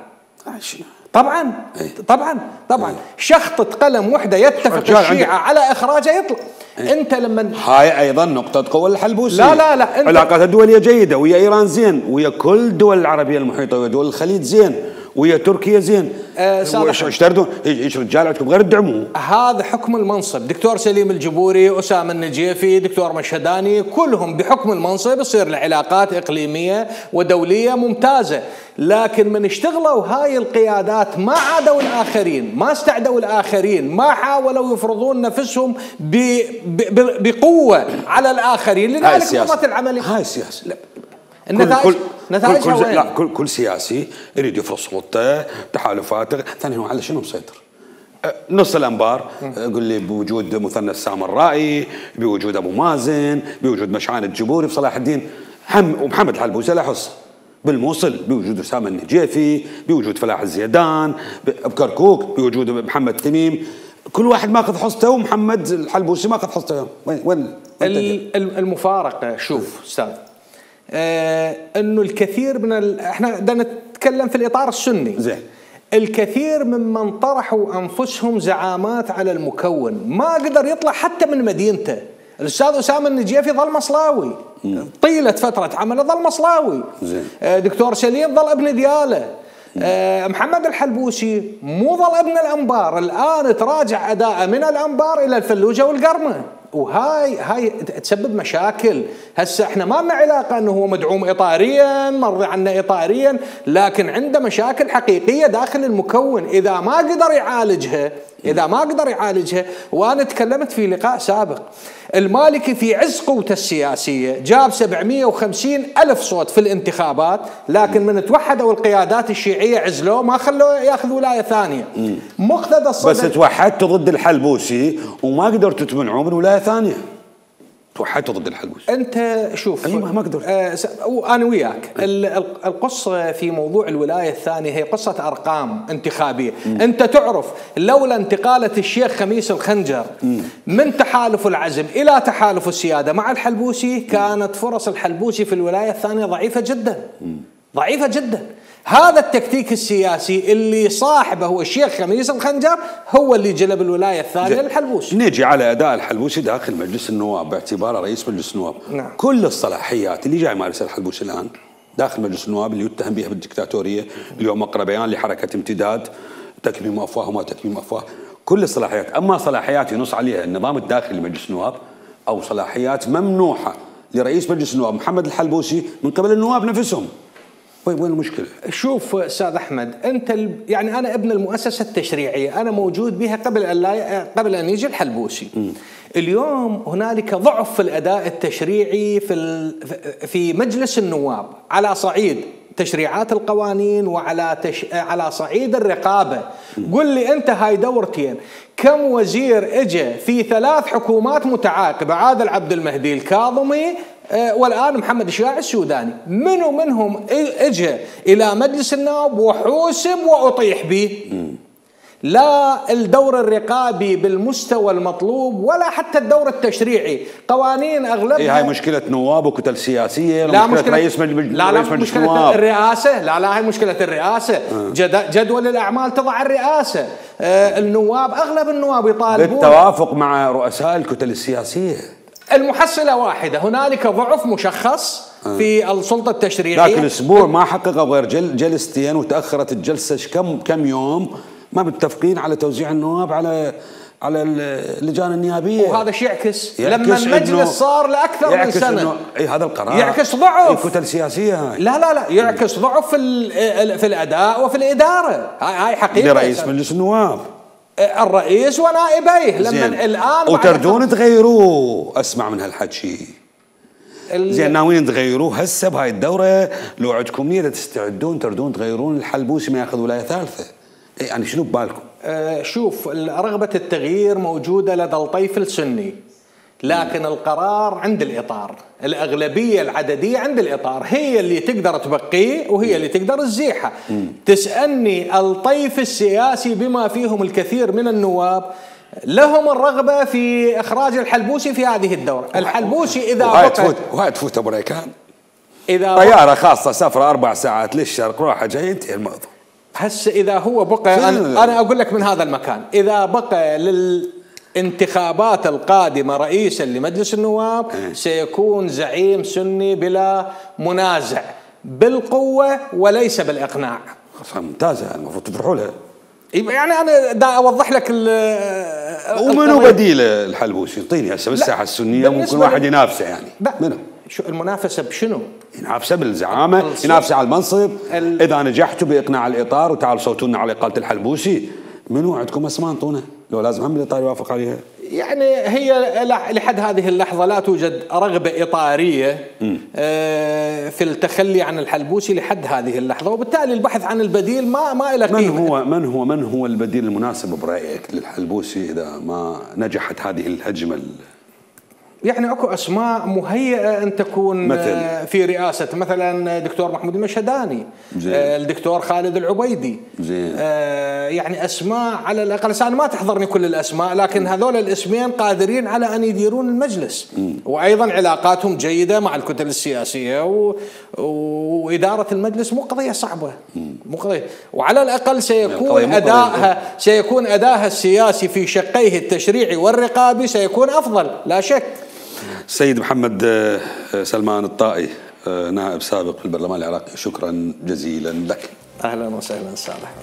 طبعا شخطة قلم وحدة يتفق الشيعة على إخراجه يطلع. انت لما هاي ايضا نقطة قوة الحلبوسي. لا علاقات الدولية جيدة ويا ايران زين، ويا كل الدول العربية المحيطة، ويا دول الخليج زين، ويا تركيا زين. ايش تردون؟ ايش رجال عندكم غير الدعموا؟ هذا حكم المنصب. دكتور سليم الجبوري، أسامة النجيفي، دكتور مشهداني، كلهم بحكم المنصب يصير العلاقات إقليمية ودولية ممتازة. لكن من اشتغلوا هاي القيادات ما عادوا الآخرين، ما استعدوا الآخرين، ما حاولوا يفرضون نفسهم بقوة على الآخرين. لذلك قامت العملية. هاي السياسة. نتائجها كل سياسي يريد يفرض سلطته، تحالفاته. ثاني هو على شنو مسيطر؟ نص الانبار يقول لي بوجود مثنى السامرائي، بوجود ابو مازن، بوجود مشعان الجبوري بصلاح الدين ومحمد الحلبوسي لا يحص. بالموصل بوجود اسامه النجيفي، بوجود فلاح الزيدان، بكركوك بوجود محمد تميم. كل واحد ماخذ حصته، ومحمد الحلبوسي ماخذ حصته. وين المفارقه؟ شوف استاذ، انه الكثير من احنا بدنا نتكلم في الاطار السني. زين. الكثير ممن طرحوا انفسهم زعامات على المكون ما قدر يطلع حتى من مدينته. الاستاذ اسامه النجيفي ظل مصلاوي طيله فتره عمله، ظل مصلاوي. زين. دكتور سليم ظل ابن دياله. محمد الحلبوسي مو ظل ابن الانبار، الان تراجع اداءه من الانبار الى الفلوجه والقرمه، وهاي تسبب مشاكل. هسه احنا ما لنا علاقه انه هو مدعوم اطاريا، مرضي عنه اطاريا، لكن عنده مشاكل حقيقيه داخل المكون اذا ما قدر يعالجها. وانا تكلمت في لقاء سابق، المالكي في عز قوته السياسيه جاب 750 ألف صوت في الانتخابات، لكن من توحدوا القيادات الشيعيه عزلوه، ما خلوه ياخذ ولايه ثانيه. مقتدى الصدر بس توحدتوا ضد الحلبوسي وما قدرتوا تمنعوه من ولايه ثانيه. توحدتوا ضد الحلبوسي. انت شوف، ايوه ما قدرت. انا وياك. القصه في موضوع الولايه الثانيه هي قصه ارقام انتخابيه. انت تعرف لولا انتقاله الشيخ خميس الخنجر من تحالف العزم الى تحالف السياده مع الحلبوسي، كانت فرص الحلبوسي في الولايه الثانيه ضعيفه جدا. هذا التكتيك السياسي اللي صاحبه هو الشيخ خميس الخنجر هو اللي جلب الولايه الثانيه للحلبوسي. نيجي على اداء الحلبوسي داخل مجلس النواب باعتباره رئيس مجلس النواب. نعم. كل الصلاحيات اللي جاي يمارسها الحلبوسي الان داخل مجلس النواب اللي يتهم بها بالدكتاتوريه، اليوم اقرا بيان لحركه امتداد، تكميم افواه وما تكميم افواه، كل الصلاحيات. اما صلاحيات ينص عليها النظام الداخلي لمجلس النواب او صلاحيات ممنوحه لرئيس مجلس النواب محمد الحلبوسي من قبل النواب نفسهم. وين المشكلة؟ شوف استاذ احمد، انت يعني انا ابن المؤسسه التشريعيه، انا موجود بها قبل ان يجي الحلبوسي. اليوم هنالك ضعف في الاداء التشريعي في مجلس النواب على صعيد تشريعات القوانين على صعيد الرقابه. قل لي انت هاي دورتين، كم وزير اجى في 3 حكومات متعاقبه؟ عادل عبد المهدي، الكاظمي، والآن محمد الشياع السوداني، منو منهم اجى إلى مجلس النواب وحوسب وأطيح به؟ لا الدور الرقابي بالمستوى المطلوب ولا حتى الدور التشريعي. قوانين اغلبها هاي مشكله نواب وكتل سياسيه، لا مشكله رئيس مجلس النواب. الرئاسه، لا هاي مشكله الرئاسه. جدول الاعمال تضع الرئاسه. النواب، اغلب النواب يطالبون بالتوافق مع رؤساء الكتل السياسيه. المحصله واحده، هنالك ضعف مشخص في السلطه التشريعيه. لكن الاسبوع ما حققوا غير جلستين، وتاخرت الجلسه كم يوم، ما متفقين على توزيع النواب على اللجان النيابيه. وهذا شيء يعكس لما المجلس صار لاكثر من سنه. هذا القرار يعكس ضعف الكتل السياسيه. هاي لا يعكس ضعف في الاداء وفي الاداره. هاي حقيقه. لرئيس مجلس النواب، الرئيس ونائبيه لما الان وتردون تغيروه. اسمع من هالحكي زين، ناويين تغيروه هسه بهاي الدوره؟ لو عندكم نيه تستعدون تردون تغيرون الحلبوسي ما ياخذ ولايه ثالثه، يعني شنو ببالكم؟ شوف، رغبة التغيير موجودة لدى الطيف السني، لكن القرار عند الإطار. الأغلبية العددية عند الإطار، هي اللي تقدر تبقيه وهي اللي تقدر تزيحه. تسألني الطيف السياسي بما فيهم الكثير من النواب لهم الرغبة في إخراج الحلبوسي في هذه الدورة. الحلبوسي إذا وهاي تفوت أبو ريكان، إذا طيارة خاصة سفرة 4 ساعات للشرق راحة جاي، انتهي الموضوع. هسه إذا هو بقى، أنا أقول لك من هذا المكان، إذا بقى للانتخابات القادمة رئيسا لمجلس النواب سيكون زعيم سني بلا منازع، بالقوة وليس بالإقناع. ممتازة، المفروض تفرحوا لها. يعني أنا دا أوضح لك ومنو بديل الحلبوسي؟ اعطيني هسه بالساحة السنية ممكن واحد ينافسه يعني. منو؟ شو المنافسة بشنو؟ ينافسه بالزعامة، ينافسه على المنصب. إذا نجحتوا بإقناع الإطار وتعالوا صوتونا على إقالة الحلبوسي، منو عندكم اسماء انطونا؟ لو لازم هم الإطار يوافق عليها. يعني هي لحد هذه اللحظة لا توجد رغبة إطارية في التخلي عن الحلبوسي لحد هذه اللحظة، وبالتالي البحث عن البديل ما إلى قيمة. من هو البديل المناسب برأيك للحلبوسي إذا ما نجحت هذه الهجمة؟ يعني اكو اسماء مهيئه ان تكون مثل في رئاسه، مثلا دكتور محمود المشهداني، الدكتور خالد العبيدي، يعني اسماء على الاقل. انا ما تحضرني كل الاسماء، لكن هذول الاسمين قادرين على ان يديرون المجلس، وايضا علاقاتهم جيده مع الكتل السياسيه، واداره المجلس مو قضيه صعبه، مو قضيه، وعلى الاقل سيكون ادائها السياسي في شقيه التشريعي والرقابي سيكون افضل لا شك. سيد محمد سلمان الطائي، نائب سابق في البرلمان العراقي، شكرا جزيلا لك. اهلا وسهلا صالح.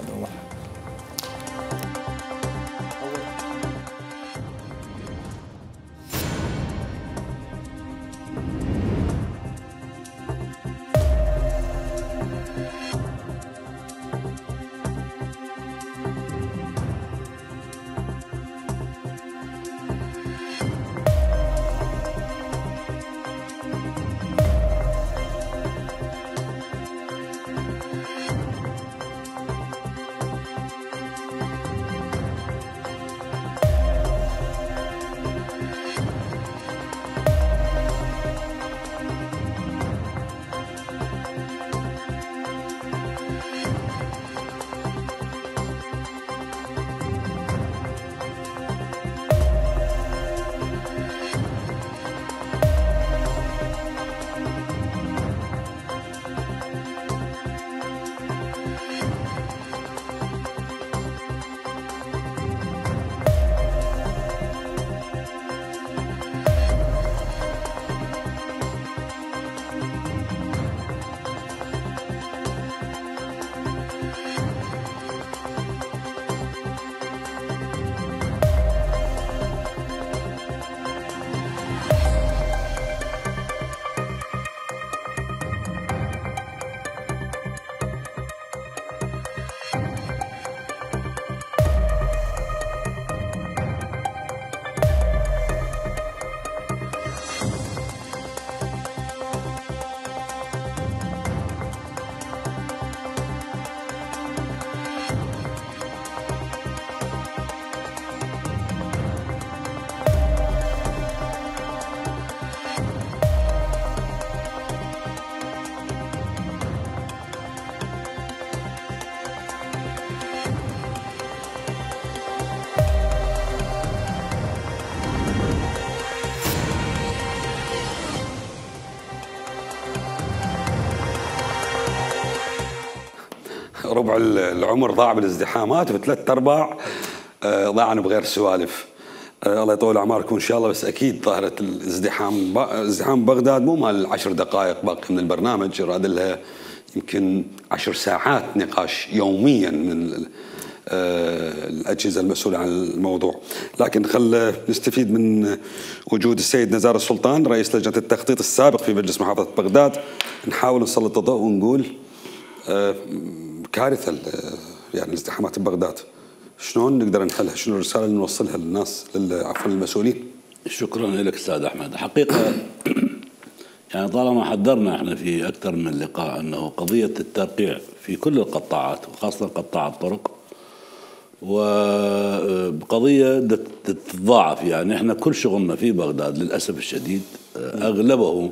ربع العمر ضاع بالازدحامات، وثلاث ارباع ضاعن بغير سوالف. الله يطول اعماركم ان شاء الله. بس اكيد ظاهره ازدحام بغداد مو مال 10 دقائق باقي من البرنامج، راد لها يمكن 10 ساعات نقاش يوميا من الأجهزة المسؤولة عن الموضوع. لكن خل نستفيد من وجود السيد نزار السلطان رئيس لجنة التخطيط السابق في مجلس محافظة بغداد، نحاول نسلط الضوء ونقول كارثة يعني الازدحامات ببغداد، شلون نقدر نحلها؟ شنو الرسالة اللي نوصلها للناس عفوا المسؤولين؟ شكرا لك أستاذ أحمد. حقيقة يعني طالما حذرنا احنا في أكثر من لقاء أنه قضية الترقيع في كل القطاعات وخاصة قطاع الطرق وقضية تتضاعف. يعني احنا كل شغلنا في بغداد للأسف الشديد أغلبه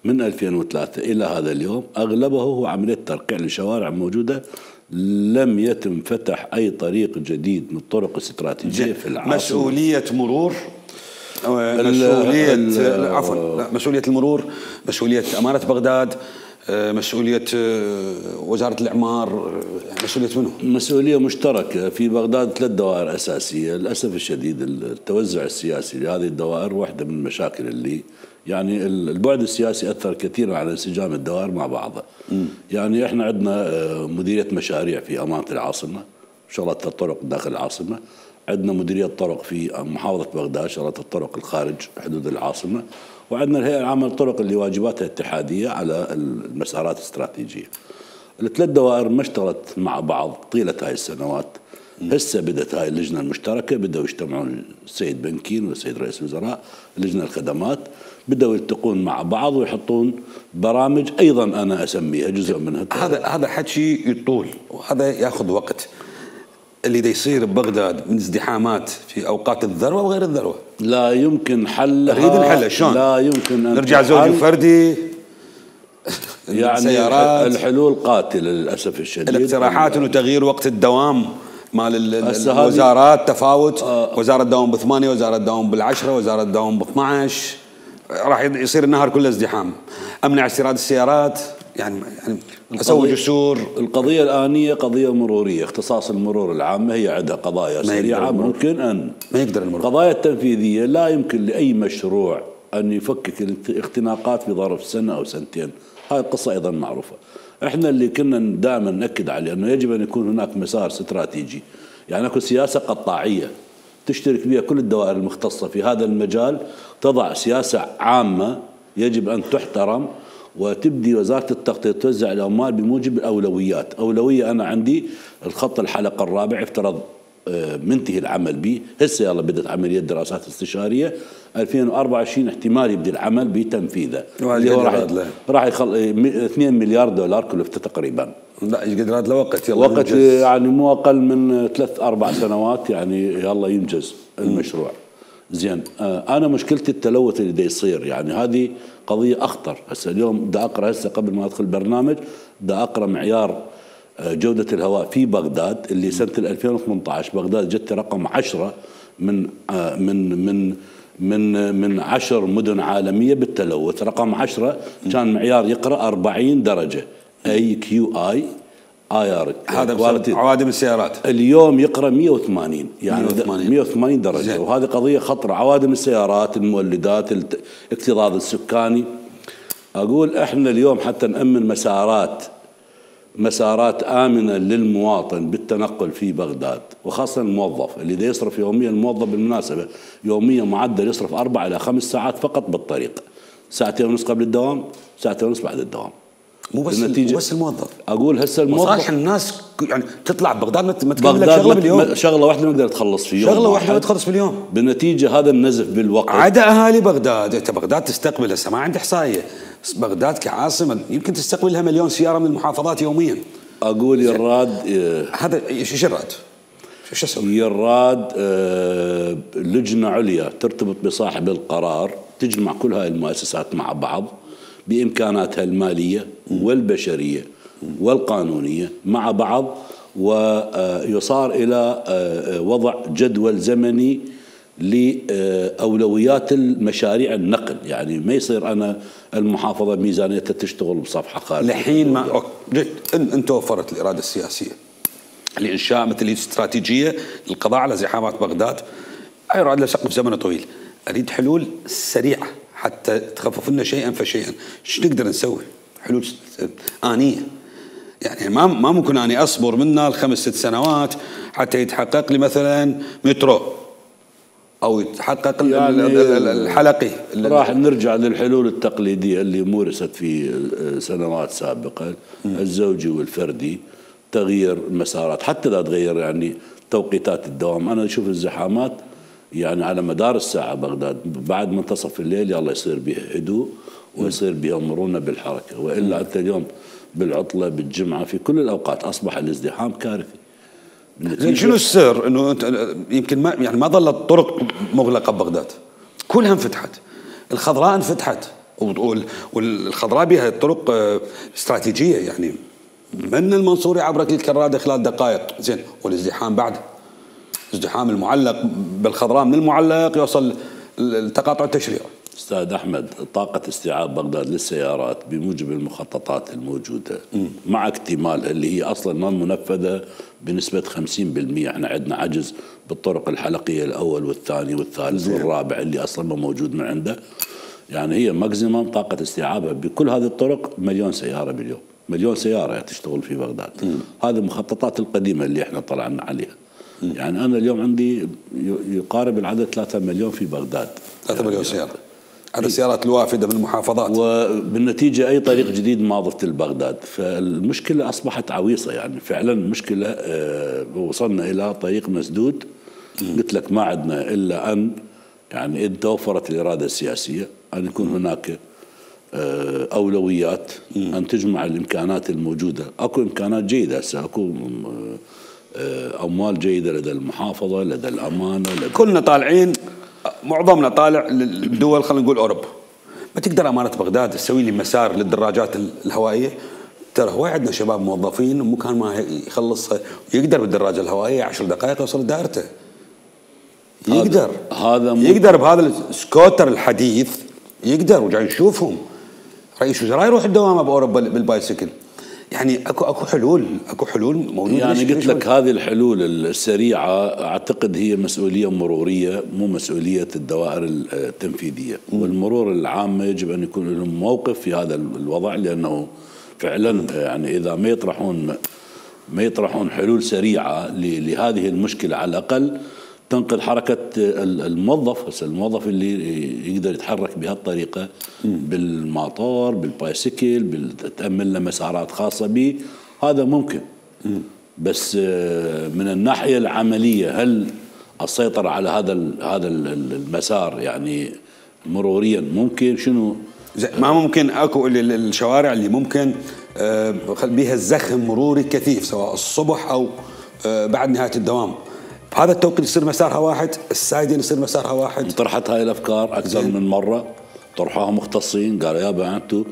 من 2003 إلى هذا اليوم أغلبه هو عملية ترقيع لشوارع موجودة، لم يتم فتح أي طريق جديد من الطرق الاستراتيجية في العاصمة. مسؤولية مرور، مسؤولية المرور، مسؤولية أمانة بغداد، مسؤولية وزارة الإعمار، مسؤولية منه؟ مسؤولية مشتركة في بغداد. 3 دوائر أساسية. للأسف الشديد التوزع السياسي لهذه الدوائر واحدة من المشاكل اللي يعني البعد السياسي أثر كثيرا على انسجام الدوائر مع بعضها. يعني احنا عندنا مديرية مشاريع في أمانة العاصمة شغلت الطرق داخل العاصمة، عندنا مديرية طرق في محافظة بغداد شغلت الطرق الخارج حدود العاصمة، وعندنا الهيئة العامة للطرق اللي واجباتها اتحادية على المسارات الاستراتيجية. ال3 دوائر ما اشتغلت مع بعض طيلة هاي السنوات. هسه بدأت هاي اللجنة المشتركة، بدأوا يجتمعون السيد بنكين والسيد رئيس الوزراء لجنة الخدمات، بدأوا يلتقون مع بعض ويحطون برامج أيضا أنا أسميها جزء منها. هذا حكي يطول وهذا ياخذ وقت. اللي دا يصير ببغداد من ازدحامات في اوقات الذروه وغير الذروه لا يمكن حلها. نريد نحلها شلون؟ لا يمكن أن نرجع زوجي وفردي يعني سيارات. الحلول قاتله للاسف الشديد. الاقتراحات انه تغيير وقت الدوام مال الوزارات تفاوت، وزاره تداوم ب8، وزاره تداوم بال10، وزاره تداوم ب12، راح يصير النهار كله ازدحام. امنع استيراد السيارات، يعني اسوي جسور. القضيه الانيه قضيه مروريه، اختصاص المرور العامه هي عندها قضايا سريعه ممكن ان ما يقدر المرور. قضايا التنفيذيه لا يمكن لاي مشروع ان يفكك الاختناقات في ظرف سنه او سنتين، هاي القصه ايضا معروفه. احنا اللي كنا دائما ناكد عليه انه يجب ان يكون هناك مسار استراتيجي، يعني اكو سياسه قطاعيه تشترك بها كل الدوائر المختصه في هذا المجال، تضع سياسه عامه يجب ان تحترم، وتبدي وزارة التخطيط توزع الأموال بموجب الأولويات. أولوية أنا عندي الخط الحلقة الرابع افترض منتهي العمل به، هسه يلا بدأت عملية دراسات استشارية 2024 احتمال يبدي العمل بتنفيذه اللي هو راح يخل 2 مليار دولار كلفته تقريبا. لا يقدر هذا وقت يلا وقت يعني مو أقل من 3-4 سنوات يعني يلا ينجز المشروع. زين أنا مشكلتي التلوث اللي دا يصير، يعني هذه قضية أخطر. هسه اليوم دا أقرأ هسه قبل ما أدخل البرنامج دا أقرأ معيار جودة الهواء في بغداد اللي سنة 2018 بغداد جت رقم 10 من 10 مدن عالمية بالتلوث. رقم 10 كان معيار يقرأ 40 درجة AQI IR، هذا عوادم السيارات. اليوم يقرأ 180 يعني 180 درجة زي. وهذه قضية خطرة. عوادم السيارات، المولدات، الاكتظاظ السكاني. أقول إحنا اليوم حتى نأمن مسارات آمنة للمواطن بالتنقل في بغداد، وخاصة الموظف اللي دا يصرف يوميا. الموظف بالمناسبة يوميا معدل يصرف 4 إلى 5 ساعات فقط بالطريق، 2.5 قبل الدوام، 2.5 بعد الدوام. مو بس الموظف. اقول هسه الموظف مصالح الناس يعني تطلع بغداد ما تكمل لك شغله باليوم. شغله واحده ما تقدر تخلص في يوم، شغله واحده ما تخلص باليوم. بالنتيجه هذا النزف بالوقت. عدا اهالي بغداد، انت بغداد تستقبل هسه ما عندي احصائيه، بغداد كعاصمه يمكن تستقبل لها 1,000,000 سياره من المحافظات يوميا. اقول يراد هذا ايش الراد؟ شو اسوي؟ يراد لجنه عليا ترتبط بصاحب القرار تجمع كل هاي المؤسسات مع بعض بإمكاناتها المالية والبشرية والقانونية مع بعض، ويصار إلى وضع جدول زمني لأولويات المشاريع النقل. يعني ما يصير أنا المحافظة ميزانيتها تشتغل بصفحة خارجية. الحين ما أنت وفرت الإرادة السياسية، لإنشاء مثل استراتيجية للقضاء على زحامات بغداد. يراد له سقف زمني طويل. أريد حلول سريعة حتى تخفف لنا شيئا فشيئا. شو نقدر نسوي؟ حلول آنية. يعني ما ممكن أني أصبر منا ال5 6 سنوات حتى يتحقق لي مثلا مترو أو يتحقق يعني الحلقي. راح نرجع للحلول التقليدية اللي مورست في سنوات سابقة، الزوجي والفردي، تغيير المسارات، حتى لا تغير يعني توقيتات الدوام. أنا أشوف الزحامات يعني على مدار الساعة بغداد بعد منتصف الليل يلا يصير بها هدوء ويصير بها مرونة بالحركة، وإلا أنت اليوم بالعطلة بالجمعة في كل الأوقات أصبح الازدحام كارثي. شنو السر انه يمكن ما ظلت طرق مغلقه ببغداد، كلها انفتحت، الخضراء انفتحت، والخضراء بها طرق استراتيجيه، يعني من المنصوري عبر الكراده خلال دقائق، زين، والازدحام بعد، الازدحام المعلق بالخضراء من المعلق يوصل التقاطع التشريعي. استاذ احمد، طاقه استيعاب بغداد للسيارات بموجب المخططات الموجوده مع اكتمال اللي هي اصلا ما منفذه بنسبه 50%، احنا عندنا عجز بالطرق الحلقيه الاول والثاني والثالث والرابع اللي اصلا ما موجود من عنده، يعني هي ماكسيمم طاقه استيعابها بكل هذه الطرق 1,000,000 سياره باليوم، 1,000,000 سياره تشتغل في بغداد. هذه المخططات القديمه اللي احنا طلعنا عليها. يعني انا اليوم عندي يقارب العدد 3 مليون في بغداد، 3 مليون سياره، هذا السيارات الوافده من المحافظات، وبالنتيجه اي طريق جديد ما ضفت لبغداد، فالمشكله اصبحت عويصه، يعني فعلا مشكله. وصلنا الى طريق مسدود. قلت لك ما عندنا الا ان يعني ان توفرت الاراده السياسيه ان يكون هناك اولويات، ان تجمع الامكانات الموجوده. اكو امكانات جيده هسه، اكو اموال جيده لدى المحافظه، لدى الامانه، كلنا طالعين، معظمنا طالع للدول، خلينا نقول اوروبا. ما تقدر امانه بغداد تسوي لي مسار للدراجات الهوائيه؟ ترى هو عندنا شباب موظفين ومكان ما يخلصها يقدر بالدراجه الهوائيه 10 دقائق يوصل لدائرته. يقدر بهذا السكوتر الحديث، يقدر. وجاي نشوفهم رئيس وزراء يروح الدوامه باوروبا بالبايسكل. يعني اكو حلول موجوده. يعني قلت لك هذه الحلول السريعه اعتقد هي مسؤوليه مروريه، مو مسؤوليه الدوائر التنفيذيه. والمرور العامه يجب ان يكون لهم موقف في هذا الوضع، لانه فعلا يعني اذا ما يطرحون حلول سريعه لهذه المشكله، على الاقل تنقذ حركه الموظف. هسه الموظف اللي يقدر يتحرك بهالطريقه بالماطور بالبايسكل تأمن له مسارات خاصه به، هذا ممكن. بس من الناحيه العمليه هل السيطره على هذا المسار يعني مروريا ممكن؟ شنو ما ممكن؟ اكو الشوارع اللي ممكن بيها الزخم مروري كثيف، سواء الصبح او بعد نهايه الدوام. بهذا التوقيت يصير مسارها واحد، السايدين يصير مسارها واحد. طرحت هاي الافكار اكثر من مره، طرحوها مختصين، قالوا يابا انتم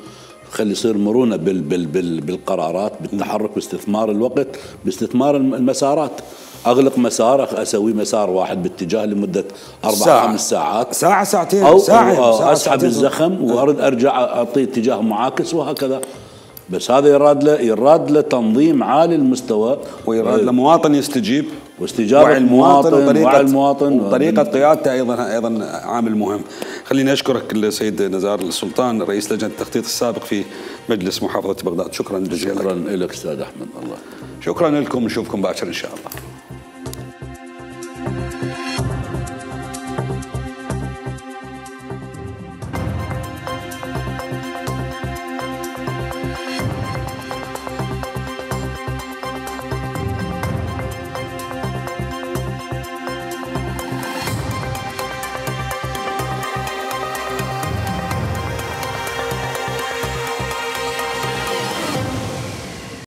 خلي يصير مرونه بالقرارات، بالتحرك، باستثمار الوقت، باستثمار المسارات. اغلق مسار، اسوي مسار واحد باتجاه لمده 4-5 ساعات، ساعه ساعتين، او ساعة اسحب الزخم وارد ارجع اعطي اتجاه معاكس وهكذا. بس هذا يراد له تنظيم عالي المستوى، ويراد له مواطن يستجيب، واستجابه المواطن وطريقه قيادته ايضا عامل مهم. خليني اشكرك السيد نزار السلطان، رئيس لجنه التخطيط السابق في مجلس محافظه بغداد. شكرا جزيلا. شكرا لك استاذ احمد. الله شكرا لكم، نشوفكم باكر ان شاء الله.